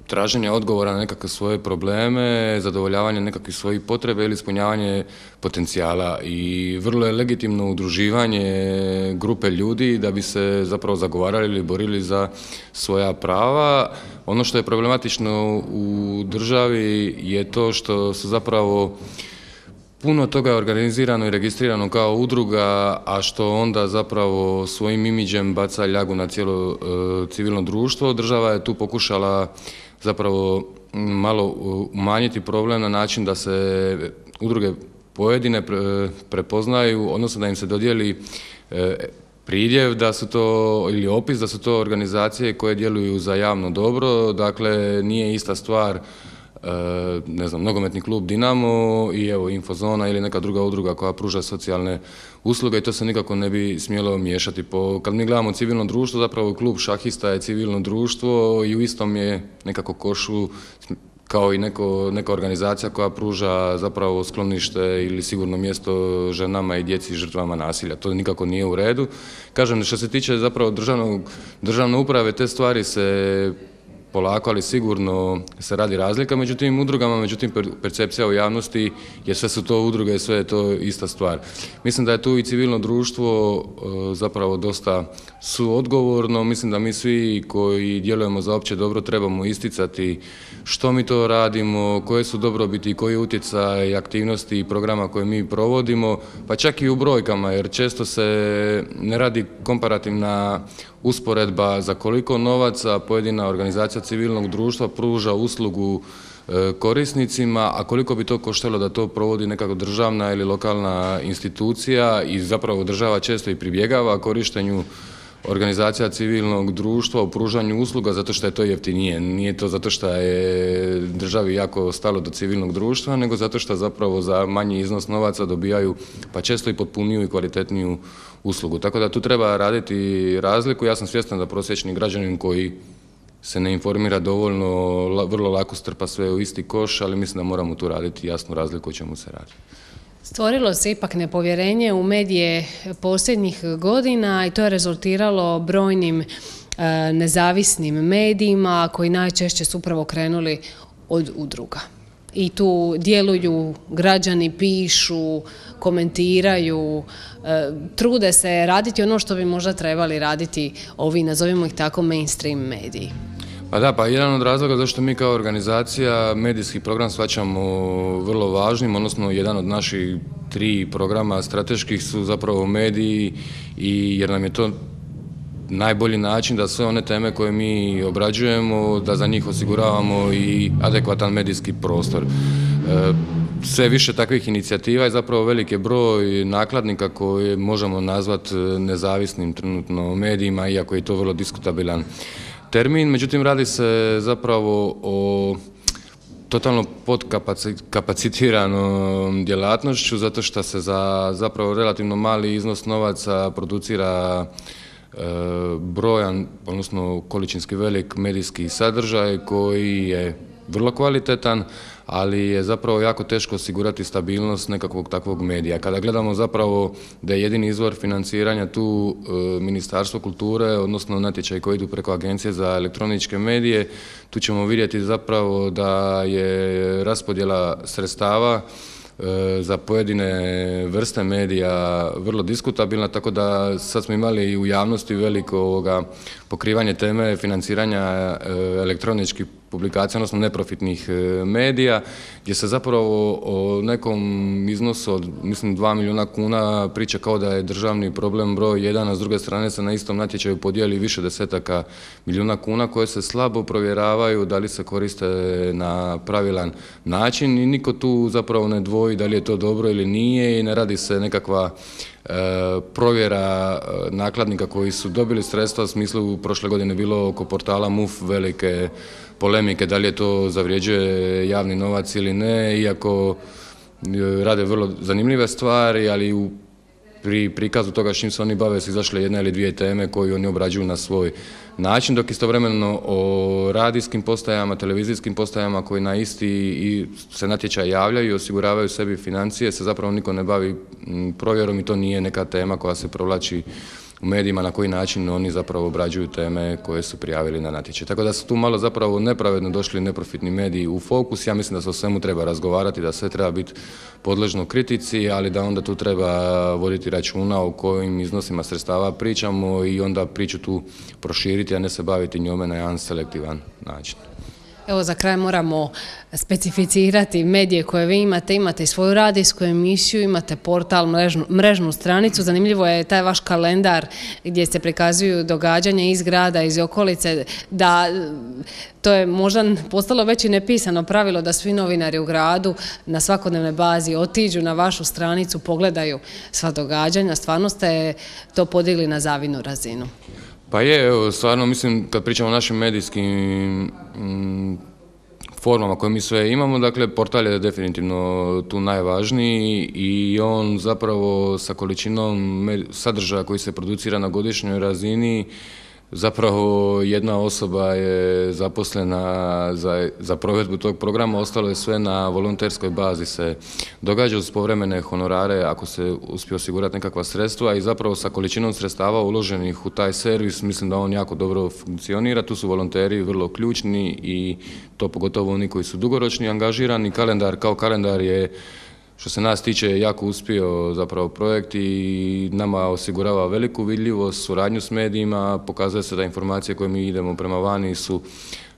traženja odgovora na nekakve svoje probleme, zadovoljavanje nekakvih svojih potrebe ili ispunjavanje potencijala i vrlo je legitimno udruživanje grupe ljudi da bi se zapravo zagovarali ili borili za svoja prava. Ono što je problematično u državi je to što su zapravo puno toga je organizirano i registrirano kao udruga, a što onda zapravo svojim imidžem baca ljagu na cijelo e, civilno društvo. Država je tu pokušala zapravo malo umanjiti problem na način da se udruge pojedine prepoznaju, odnosno da im se dodijeli pridjev da su to, ili opis da su to organizacije koje djeluju za javno dobro. Dakle, nije ista stvar ne znam, nogometni klub Dinamo i evo Infozona ili neka druga udruga koja pruža socijalne usluge i to se nikako ne bi smjelo miješati. Po, kad mi gledamo civilno društvo, zapravo klub šahista je civilno društvo i u istom je nekako košu kao i neko, neka organizacija koja pruža zapravo sklonište ili sigurno mjesto ženama i djeci i žrtvama nasilja. To nikako nije u redu. Kažem, što se tiče zapravo državnog, državne uprave, te stvari se polako, ali sigurno se radi razlika među tim udrugama, međutim percepcija u javnosti je sve su to udruge, sve je to ista stvar. Mislim da je tu i civilno društvo zapravo dosta suodgovorno, mislim da mi svi koji djelujemo za opće dobro trebamo isticati što mi to radimo, koje su dobrobiti, koji utjecaj aktivnosti i programa koje mi provodimo, pa čak i u brojkama, jer često se ne radi komparativna usporedba za koliko novaca pojedina organizacija civilnog društva pruža uslugu korisnicima, a koliko bi to koštalo da to provodi neka državna ili lokalna institucija i zapravo država često i pribjegava korištenju organizacija civilnog društva u pružanju usluga zato što je to jeftinije. Nije to zato što je državi jako stalo do civilnog društva, nego zato što zapravo za manji iznos novaca dobijaju pa često i potpuniju i kvalitetniju uslugu. Tako da tu treba raditi razliku. Ja sam svjestan da prosječni građanin koji se ne informira dovoljno, vrlo lako strpa sve u isti koš, ali mislim da moramo tu raditi jasnu razliku o čemu se radi. Stvorilo se ipak nepovjerenje u medije posljednjih godina i to je rezultiralo brojnim e, nezavisnim medijima koji najčešće su upravo krenuli od udruga. I tu djeluju građani, pišu, komentiraju, e, trude se raditi ono što bi možda trebali raditi ovi, nazovimo ih tako, mainstream mediji. Pa da, pa jedan od razloga zašto mi kao organizacija medijski program shvaćamo vrlo važnim, odnosno jedan od naših tri programa strateških su zapravo mediji i jer nam je to najbolji način da sve one teme koje mi obrađujemo, da za njih osiguravamo i adekvatan medijski prostor. Sve više takvih inicijativa je zapravo veliki broj nakladnika koje možemo nazvati nezavisnim trenutno medijima, iako je to vrlo diskutabilan termin, međutim radi se zapravo o totalno podkapacitiranom djelatnošću zato što se za zapravo relativno mali iznos novaca producira e, brojan, odnosno količinski velik medijski sadržaj koji je vrlo kvalitetan, ali je zapravo jako teško osigurati stabilnost nekakvog takvog medija. Kada gledamo zapravo da je jedini izvor financiranja tu e, Ministarstvo kulture, odnosno natječaj koji idu preko Agencije za elektroničke medije, tu ćemo vidjeti zapravo da je raspodjela sredstava za pojedine vrste medija vrlo diskutabilna, tako da sad smo imali i u javnosti veliko ovoga pokrivanje teme financiranja elektroničkih publikacija, odnosno neprofitnih medija, gdje se zapravo o nekom iznosu od, mislim, dva milijuna kuna priča kao da je državni problem broj jedan, a s druge strane se na istom natječaju podijeli više desetaka milijuna kuna koje se slabo provjeravaju da li se koriste na pravilan način i niko tu zapravo ne dvoji da li je to dobro ili nije i ne radi se nekakva e, provjera nakladnika koji su dobili sredstva, u smislu prošle godine bilo oko portala M U F velike polemike da li je to zavrijeđuje javni novac ili ne, iako rade vrlo zanimljive stvari, ali u pri prikazu toga s čim se oni bave su izašle jedna ili dvije teme koje oni obrađuju na svoj način, dok istovremeno o radijskim postajama, televizijskim postajama koji na isti i se natječaj javljaju i osiguravaju sebi financije, se zapravo niko ne bavi provjerom i to nije neka tema koja se provlači u medijima na koji način oni zapravo obrađuju teme koje su prijavili na natječaj. Tako da su tu malo zapravo nepravedno došli neprofitni mediji u fokus. Ja mislim da se o svemu treba razgovarati, da sve treba biti podležno kritici, ali da onda tu treba voditi računa o kojim iznosima sredstava pričamo i onda priču tu proširiti, a ne se baviti njome na jedan selektivan način. Evo, za kraj moramo specificirati medije koje vi imate. Imate i svoju radijsku emisiju, imate portal, mrežnu, mrežnu stranicu. Zanimljivo je taj vaš kalendar gdje se prikazuju događanja iz grada, iz okolice, da to je možda postalo već i nepisano pravilo da svi novinari u gradu na svakodnevnoj bazi otiđu na vašu stranicu, pogledaju sva događanja. Stvarno ste to podigli na zavidnu razinu. Pa je, evo, stvarno mislim kad pričamo o našim medijskim mm, formama koje mi sve imamo, dakle portal je definitivno tu najvažniji i on zapravo sa količinom sadržaja koji se producira na godišnjoj razini, zapravo jedna osoba je zaposlena za, za provedbu tog programa, ostalo je sve na volonterskoj bazi se događa uz povremene honorare ako se uspije osigurati nekakva sredstva i zapravo sa količinom sredstava uloženih u taj servis mislim da on jako dobro funkcionira, tu su volonteri vrlo ključni i to pogotovo oni koji su dugoročni angažirani, kalendar kao kalendar je što se nas tiče jako uspio zapravo projekt i nama osigurava veliku vidljivost, suradnju s medijima, pokazuje se da informacije koje mi idemo prema vani su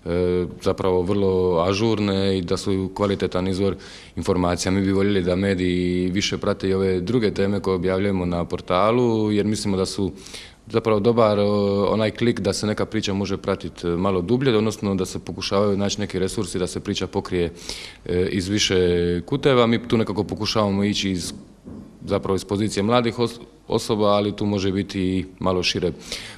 e, zapravo vrlo ažurne i da su kvalitetan izvor informacija. Mi bi voljeli da mediji više prate i ove druge teme koje objavljujemo na portalu jer mislimo da su zapravo dobar onaj klik da se neka priča može pratiti malo dublje, odnosno da se pokušavaju naći neki resursi da se priča pokrije iz više kuteva. Mi tu nekako pokušavamo ići iz, zapravo iz pozicije mladih osoba, ali tu može biti i malo šire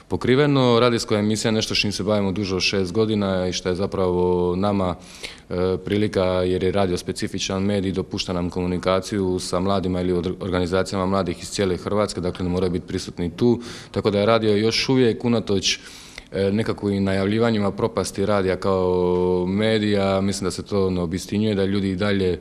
pokriveno. Radijska emisija je nešto s čim se bavimo duže od šest godina i što je zapravo nama e, prilika jer je radio specifičan medij, dopušta nam komunikaciju sa mladima ili organizacijama mladih iz cijele Hrvatske, dakle ne moraju biti prisutni tu, tako da je radio još uvijek unatoč nekakvim najavljivanjima propasti radija kao medija, mislim da se to ne obistinjuje, da ljudi i dalje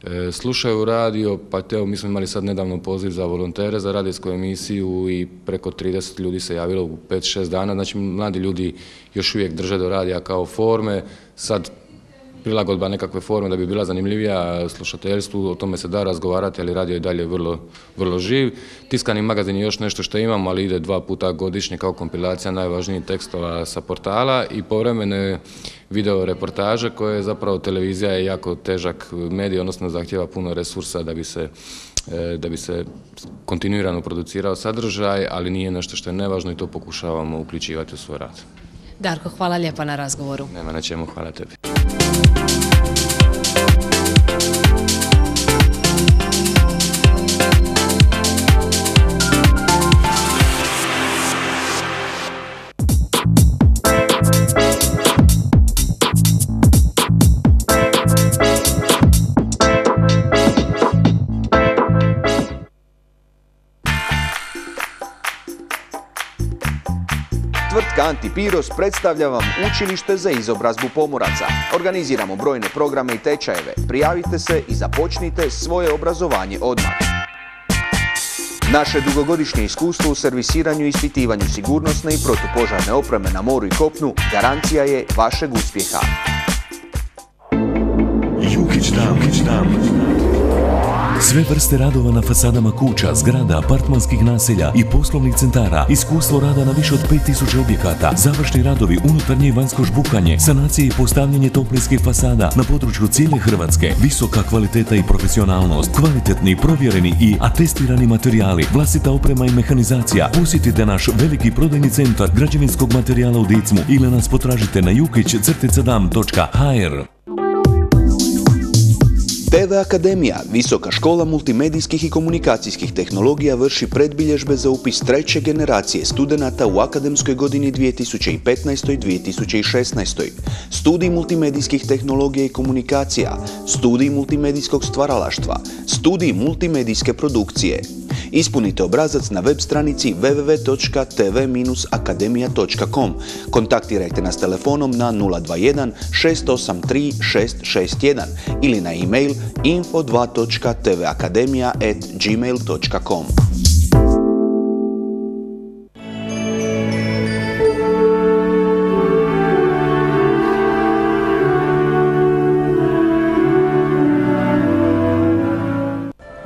e, slušaju radio, pa evo mi smo imali sad nedavno poziv za volontere za radijsku emisiju i preko trideset ljudi se javilo u pet šest dana, znači mladi ljudi još uvijek drže do radija kao forme, sad prilagodba nekakve forme da bi bila zanimljivija slušateljstvu, o tome se da razgovarati, ali radio je dalje vrlo, vrlo živ. Tiskani magazin je još nešto što imamo, ali ide dva puta godišnje kao kompilacija najvažnijih tekstova sa portala i povremene video reportaže koje zapravo televizija je jako težak medij, odnosno zahtjeva puno resursa da bi se da bi se kontinuirano producirao sadržaj, ali nije nešto što je nevažno i to pokušavamo uključivati u svoj rad. Darko, hvala lijepa na razgovoru. Nema na čemu, hvala tebi. Tvrtka Antipiros predstavlja vam učilište za izobrazbu pomoraca. Organiziramo brojne programe i tečajeve. Prijavite se i započnite svoje obrazovanje odmah. Naše dugogodišnje iskustvo u servisiranju i ispitivanju sigurnosne i protupožarne opreme na moru i kopnu garancija je vašeg uspjeha. Jukić Dam, Jukić Dam. Sve vrste radova na fasadama kuća, zgrada, apartmanskih naselja i poslovnih centara, iskustvo rada na više od pet tisuća objekata, završni radovi, unutarnje i vanjsko žbukanje, sanacije i postavljanje toplinskih fasada na području cijele Hrvatske, visoka kvaliteta i profesionalnost, kvalitetni, provjereni i atestirani materijali, vlastita oprema i mehanizacija. Posjetite naš veliki prodajni centar građevinskog materijala u Dicmu ili nas potražite na jukić dam točka ha er. T V Akademija, visoka škola multimedijskih i komunikacijskih tehnologija, vrši predbilježbe za upis treće generacije studenata u akademskoj godini dvije tisuće petnaestoj dvije tisuće šesnaestoj. Studij multimedijskih tehnologija i komunikacija, studij multimedijskog stvaralaštva, studij multimedijske produkcije. Ispunite obrazac na web stranici w w w točka t v akademija točka com. Kontaktirajte nas telefonom na nula dva jedan šest osam tri šest šest jedan ili na e-mail info dva točka t v akademija at gmail točka com.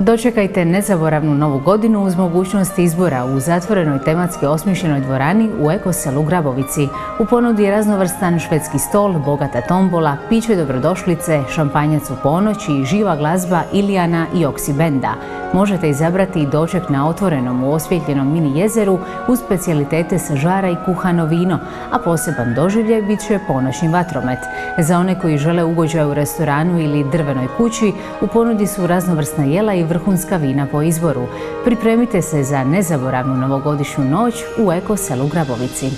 Dočekajte nezaboravnu novu godinu uz mogućnost izbora u zatvorenoj tematski osmišljenoj dvorani u ekoselu Grabovici. U ponudi je raznovrstan švedski stol, bogata tombola, piće dobrodošlice, šampanjac u ponoć i živa glazba Ilijana i Oksi benda. Možete izabrati i doček na otvorenom u osvjetljenom mini jezeru uz specijalitete sa žara i kuhano vino, a poseban doživljaj bit će ponoćni vatromet. Za one koji žele ugođaj u restoranu ili drvenoj kući, u ponudi su raznovrsna jela i vrhunska vina po izboru. Pripremite se za nezaboravnu novogodišnju noć u ekoselu Grabovici.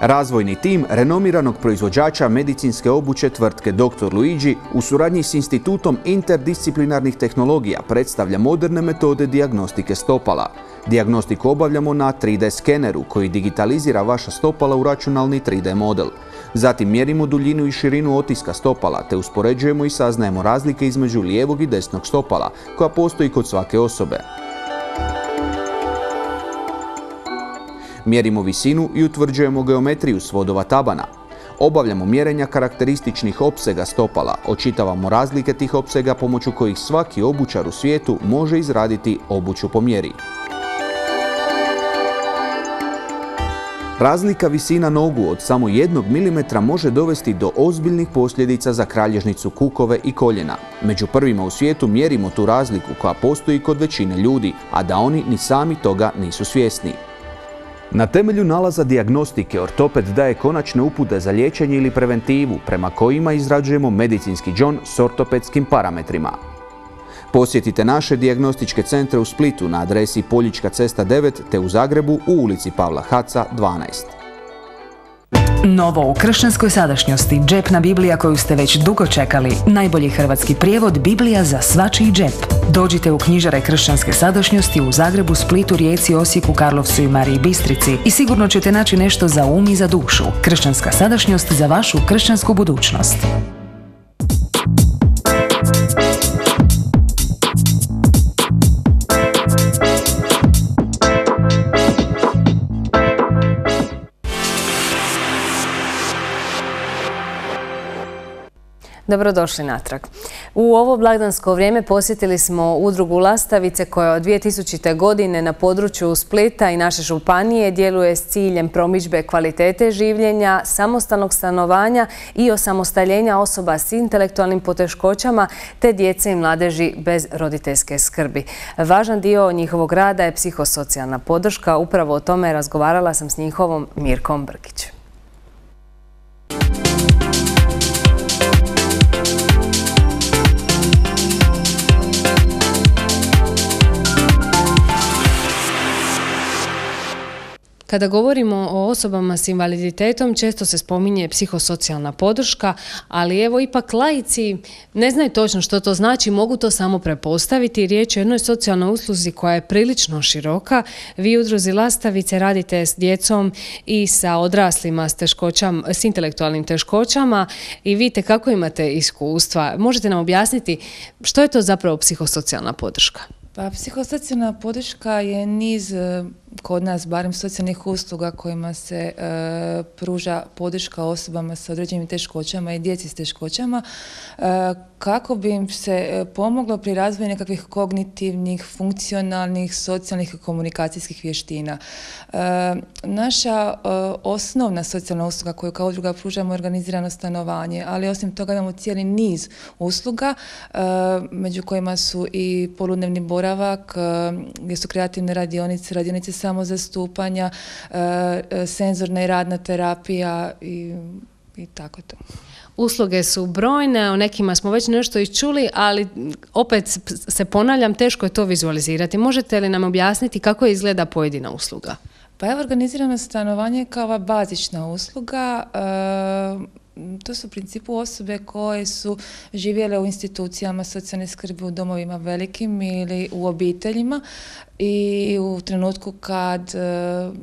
Razvojni tim renomiranog proizvođača medicinske obuće tvrtke doktor Luigi u suradnji s Institutom interdisciplinarnih tehnologija predstavlja moderne metode dijagnostike stopala. Dijagnostiku obavljamo na tri D skeneru koji digitalizira vaša stopala u računalni tri D model. Zatim mjerimo duljinu i širinu otiska stopala te uspoređujemo i saznajemo razlike između lijevog i desnog stopala koja postoji kod svake osobe. Mjerimo visinu i utvrđujemo geometriju svodova tabana. Obavljamo mjerenja karakterističnih opsega stopala, očitavamo razlike tih opsega pomoću kojih svaki obućar u svijetu može izraditi obuću po mjeri. Razlika visina nogu od samo jednog milimetra može dovesti do ozbiljnih posljedica za kralježnicu kukove i koljena. Među prvima u svijetu mjerimo tu razliku koja postoji kod većine ljudi, a da oni ni sami toga nisu svjesni. Na temelju nalaza dijagnostike ortoped daje konačne upute za liječenje ili preventivu prema kojima izrađujemo medicinski džon s ortopedskim parametrima. Posjetite naše dijagnostičke centre u Splitu na adresi Poljička cesta devet te u Zagrebu u ulici Pavla Haca dvanaest. Novo u kršćanskoj sadašnjosti, džepna Biblija koju ste već dugo čekali, najbolji hrvatski prijevod Biblija za svačiji džep. Dođite u knjižare kršćanske sadašnjosti u Zagrebu, Splitu, Rijeci, Osijeku, Karlovcu i Mariji Bistrici i sigurno ćete naći nešto za um i za dušu. Kršćanska sadašnjost za vašu kršćansku budućnost. Dobrodošli natrag. U ovo blagdansko vrijeme posjetili smo udrugu Lastavice koja od dvije tisućite. godine na području Splita i naše županije djeluje s ciljem promidžbe kvalitete življenja, samostalnog stanovanja i osamostaljenja osoba s intelektualnim poteškoćama te djece i mladeži bez roditeljske skrbi. Važan dio njihovog rada je psihosocijalna podrška. Upravo o tome razgovarala sam s njihovom Mirkom Brkić. Kada govorimo o osobama s invaliditetom, često se spominje psihosocijalna podrška, ali evo ipak laici ne znaju točno što to znači, mogu to samo prepostaviti. Riječ je o jednoj socijalnoj usluzi koja je prilično široka. Vi u udruzi Lastavice radite s djecom i sa odraslima s, teškoćama, s intelektualnim teškoćama i vidite kako imate iskustva. Možete nam objasniti što je to zapravo psihosocijalna podrška? Pa, psihosocijalna podrška je niz, kod nas barem, socijalnih usluga kojima se e, pruža podrška osobama sa određenim teškoćama i djeci s teškoćama e, kako bi im se pomoglo pri razvoju nekakvih kognitivnih, funkcionalnih, socijalnih i komunikacijskih vještina. E, naša e, osnovna socijalna usluga koju kao udruga pružamo je organizirano stanovanje, ali osim toga imamo cijeli niz usluga e, među kojima su i poludnevni boravak, e, gdje su kreativne radionice, radionice samozastupanja, e, senzorna i radna terapija i, i tako to. Usluge su brojne, o nekima smo već nešto i čuli, ali opet se ponavljam, teško je to vizualizirati. Možete li nam objasniti kako izgleda pojedina usluga? Pa evo, organizirano stanovanje kao ova bazična usluga. E, To su u principu osobe koje su živjele u institucijama socijalne skrbi, u domovima velikim ili u obiteljima i u trenutku kad uh,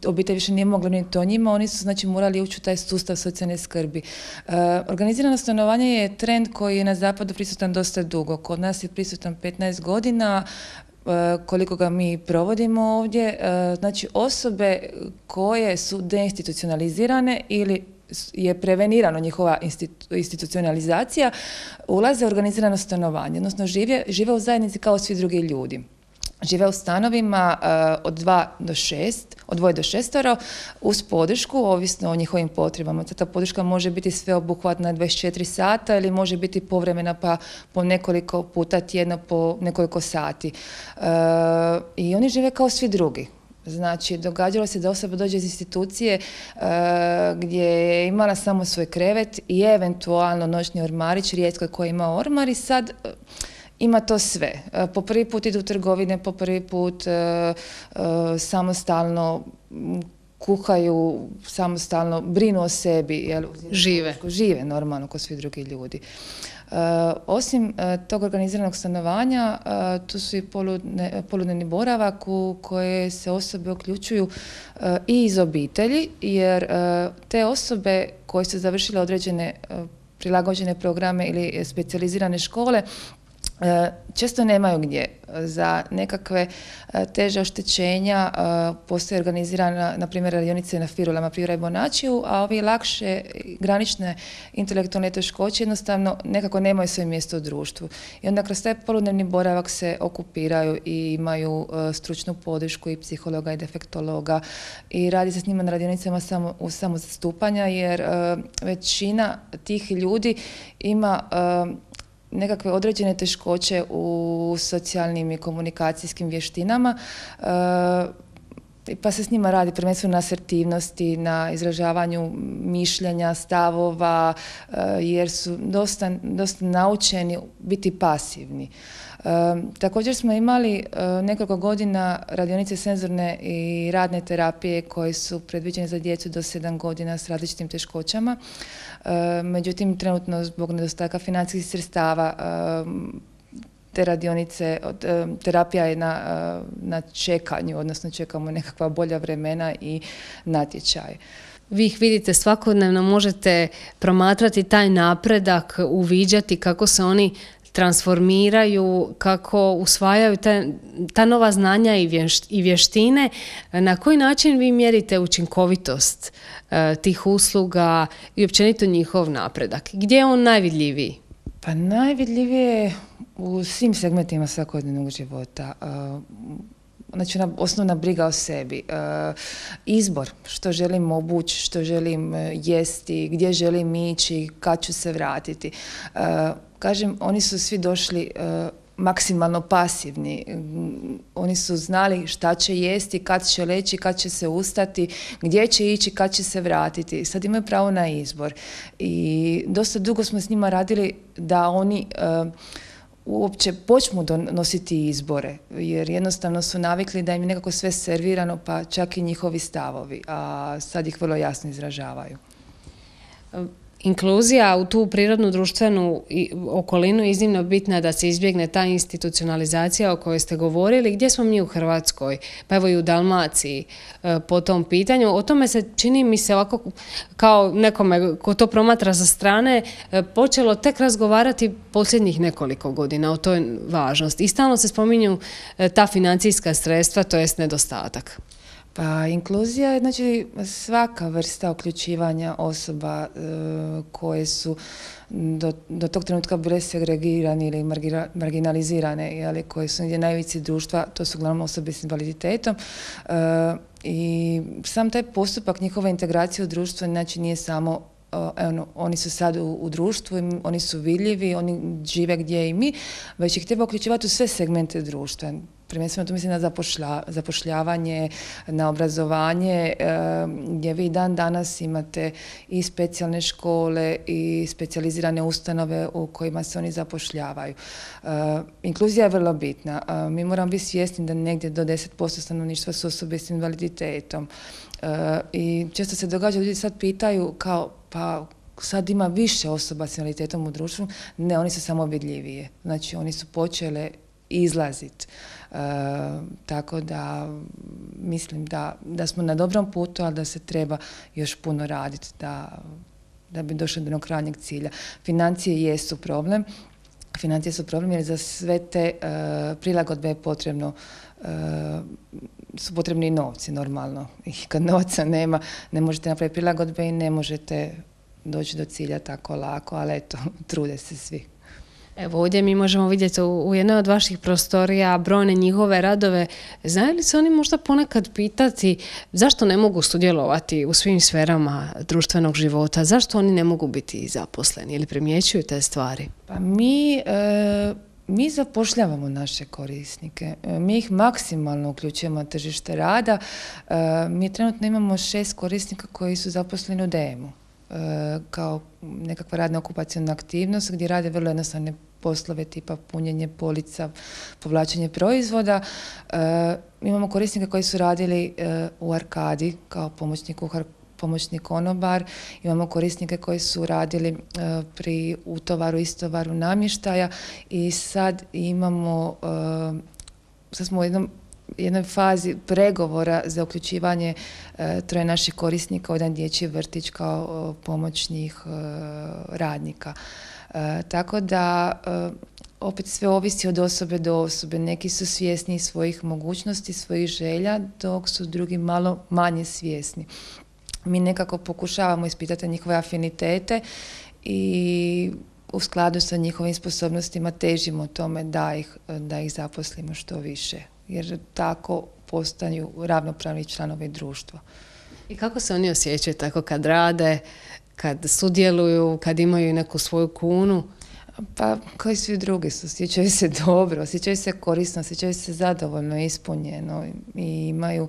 obitelj više nije mogla niti o njima, oni su znači morali ući u taj sustav socijalne skrbi. Uh, organizirano stanovanje je trend koji je na zapadu prisutan dosta dugo. Kod nas je prisutan petnaest godina, uh, koliko ga mi provodimo ovdje. Uh, znači osobe koje su deinstitucionalizirane ili je prevenirano njihova institu, institucionalizacija, ulaze u organizirano stanovanje, odnosno žive, žive u zajednici kao svi drugi ljudi. Žive u stanovima uh, od dva do šest, od dvoje do šestoro, uz podršku, ovisno o njihovim potrebama. Ta podrška može biti sveobuhvatna dvadeset četiri sata ili može biti povremena pa po nekoliko puta tjedno, po nekoliko sati. Uh, I oni žive kao svi drugi. Znači, događalo se da osoba dođe iz institucije uh, gdje je imala samo svoj krevet i eventualno noćni ormarić, rijetko koji ima ormar i sad uh, ima to sve. Uh, po prvi put idu u trgovine, po prvi put uh, uh, samostalno kuhaju samostalno, brinu o sebi. Jel, žive. Žive normalno kao svi drugi ljudi. Uh, osim uh, tog organiziranog stanovanja, uh, tu su i poludne, poludnevni boravak u koje se osobe uključuju uh, i iz obitelji, jer uh, te osobe koje su završile određene uh, prilagođene programe ili specijalizirane škole često nemaju gdje. Za nekakve teže oštećenja postoje organizirana, na primjer, radionice na Firulama, Privora i Bonačiju, a ovi lakše granične intelektualne teškoće jednostavno nekako nemaju svoje mjesto u društvu. I onda kroz taj poludnevni boravak se okupiraju i imaju stručnu podršku i psihologa i defektologa i radi se s njima na radionicama samo, u samozastupanja, jer većina tih ljudi ima nekakve određene teškoće u socijalnim i komunikacijskim vještinama, pa se s njima radi prvenstveno na asertivnosti, na izražavanju mišljenja, stavova, jer su dosta, dosta naučeni biti pasivni. E, također smo imali e, nekoliko godina radionice senzorne i radne terapije koje su predviđene za djecu do sedam godina s različitim teškoćama. E, međutim, trenutno zbog nedostatka financijskih sredstava e, te radionice, terapija je na, na čekanju, odnosno čekamo nekakva bolja vremena i natječaje. Vi ih vidite svakodnevno, možete promatrati taj napredak, uviđati kako se oni transformiraju, kako usvajaju ta, ta nova znanja i, vješt, i vještine. Na koji način vi mjerite učinkovitost e, tih usluga i općenito njihov napredak? Gdje je on najvidljiviji? Pa najvidljivije je u svim segmentima svakodnevnog života. Znači, ona osnovna briga o sebi. Izbor, što želim obući, što želim jesti, gdje želim ići, kad ću se vratiti. Kažem, oni su svi došli maksimalno pasivni. Oni su znali šta će jesti, kad će leći, kad će se ustati, gdje će ići, kad će se vratiti. Sad imaju pravo na izbor. I dosta dugo smo s njima radili da oni uh, uopće počnu donositi izbore, jer jednostavno su navikli da im je nekako sve servirano, pa čak i njihovi stavovi, a sad ih vrlo jasno izražavaju. Inkluzija u tu prirodnu društvenu okolinu je iznimno bitna da se izbjegne ta institucionalizacija o kojoj ste govorili. Gdje smo mi u Hrvatskoj? Pa evo i u Dalmaciji po tom pitanju. O tome se čini mi se ovako kao nekome ko to promatra sa strane počelo tek razgovarati posljednjih nekoliko godina o toj važnosti. I stalno se spominju ta financijska sredstva, to jest nedostatak. Pa inkluzija je znači svaka vrsta uključivanja osoba e, koje su do, do tog trenutka bile segregirane ili margira, marginalizirane, jeli, koje su negdje na ivici društva, to su uglavnom osobe s invaliditetom. E, I sam taj postupak njihove integracije u društvo znači nije samo Evo, oni su sad u, u društvu, oni su vidljivi, oni žive gdje i mi, već ih treba uključivati u sve segmente društva. Prvenstveno tu mislim na zapošlja, zapošljavanje, na obrazovanje, e, gdje vi dan danas imate i specijalne škole i specijalizirane ustanove u kojima se oni zapošljavaju. E, inkluzija je vrlo bitna. E, mi moramo biti svjesni da negdje do deset posto stanovništva su osobe s invaliditetom. E, I često se događa, ljudi sad pitaju kao, pa sad ima više osoba s invaliditetom u društvu. Ne, oni su samo vidljivije. Znači, oni su počele izlaziti. E, tako da mislim da, da smo na dobrom putu, ali da se treba još puno raditi da, da bi došli do onog krajnjeg cilja. Financije jesu problem. Financije su problem jer za sve te e, prilagodbe je potrebno e, su potrebni i novci normalno. I kad novca nema, ne možete napraviti prilagodbe i ne možete doći do cilja tako lako, ali eto, trude se svi. Evo ovdje mi možemo vidjeti u, u jednoj od vaših prostorija brojne njihove radove. Znaju li se oni možda ponekad pitati zašto ne mogu sudjelovati u svim sferama društvenog života? Zašto oni ne mogu biti zaposleni ili primjećuju te stvari? Pa mi... E... Mi zapošljavamo naše korisnike, mi ih maksimalno uključujemo na tržište rada. Mi trenutno imamo šest korisnika koji su zaposleni u D E M-u kao nekakva radna okupaciona aktivnost gdje rade vrlo jednostavne poslove tipa punjenje polica, povlačenje proizvoda. Imamo korisnike koji su radili u Arkadi kao pomoćni kuhar, pomoćni konobar. Imamo korisnike koji su radili pri utovaru, istovaru namještaja i sad imamo, sad smo u jednom jednoj fazi pregovora za uključivanje e, troje naših korisnika u jedan dječji vrtić kao e, pomoćnih e, radnika. E, tako da e, opet sve ovisi od osobe do osobe. Neki su svjesni svojih mogućnosti, svojih želja, dok su drugi malo manje svjesni. Mi nekako pokušavamo ispitati njihove afinitete i u skladu sa njihovim sposobnostima težimo tome da ih, da ih zaposlimo što više, jer tako postaju ravnopravni članovi društva. I kako se oni osjećaju tako kad rade, kad sudjeluju, kad imaju neku svoju kunu? Pa kao i svi drugi su, osjećaju se dobro, osjećaju se korisno, osjećaju se zadovoljno, ispunjeno i imaju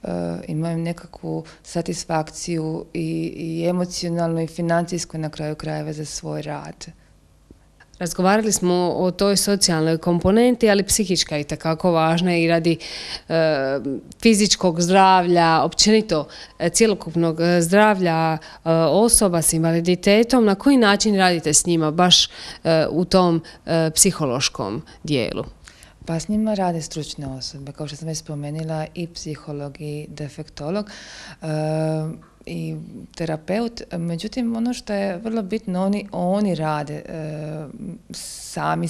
Uh, imaju nekakvu satisfakciju i, i emocionalnu i financijsku na kraju krajeva za svoj rad. Razgovarali smo o toj socijalnoj komponenti, ali psihička je itekako važna i radi e, fizičkog zdravlja, općenito e, cjelokupnog zdravlja e, osoba s invaliditetom. Na koji način radite s njima baš e, u tom e, psihološkom dijelu? Pa s njima rade stručne osobe, kao što sam već spomenula, i psiholog i defektolog e, i terapeut. Međutim, ono što je vrlo bitno, oni, oni rade e, sami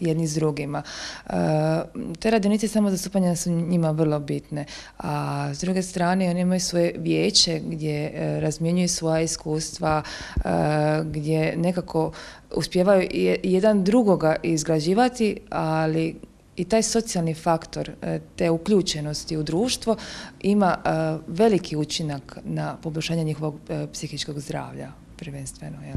jedni s drugima. E, te radionice samo zastupanja su njima vrlo bitne, a s druge strane oni imaju svoje vijeće gdje e, razmjenjuju svoja iskustva, e, gdje nekako uspijevaju jedan drugoga izgrađivati, ali i taj socijalni faktor te uključenosti u društvo ima veliki učinak na poboljšanje njihovog psihičkog zdravlja, prvenstveno. Jel?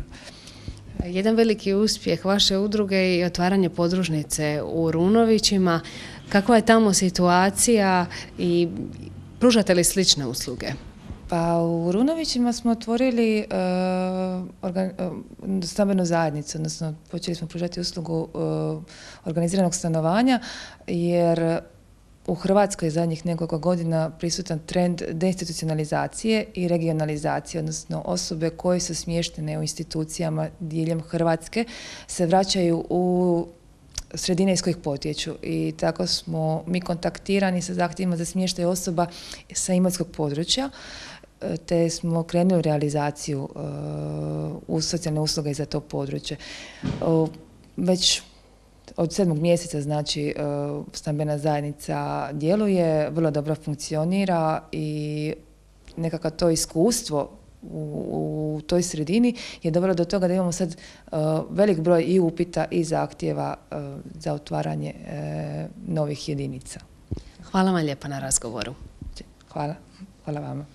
Jedan veliki uspjeh vaše udruge je i otvaranje podružnice u Runovićima. Kakva je tamo situacija i pružate li slične usluge? Pa u Runovićima smo otvorili uh, organ, uh, stambenu zajednicu, odnosno počeli smo pružati uslugu uh, organiziranog stanovanja, jer u Hrvatskoj je zadnjih nekoliko godina prisutan trend deinstitucionalizacije i regionalizacije, odnosno osobe koje su smještene u institucijama diljem Hrvatske se vraćaju u sredine iz kojih potječu i tako smo mi kontaktirani sa zahtjevima za smještaj osoba sa imotskog područja, te smo krenuli u realizaciju uh, u socijalne usluge za to područje. Uh, već od sedmog mjeseca, znači, uh, stambena zajednica djeluje, vrlo dobro funkcionira i nekako to iskustvo u, u toj sredini je dovelo do toga da imamo sad uh, velik broj i upita i zahtjeva uh, za otvaranje uh, novih jedinica. Hvala vam lijepa na razgovoru. Hvala. Hvala vama.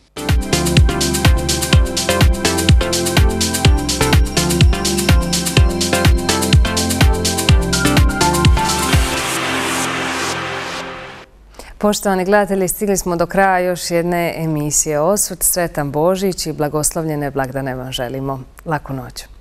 Poštovani gledatelji, stigli smo do kraja još jedne emisije Osvrt. Sretan Božić i blagoslovljene blagdane vam želimo. Laku noć.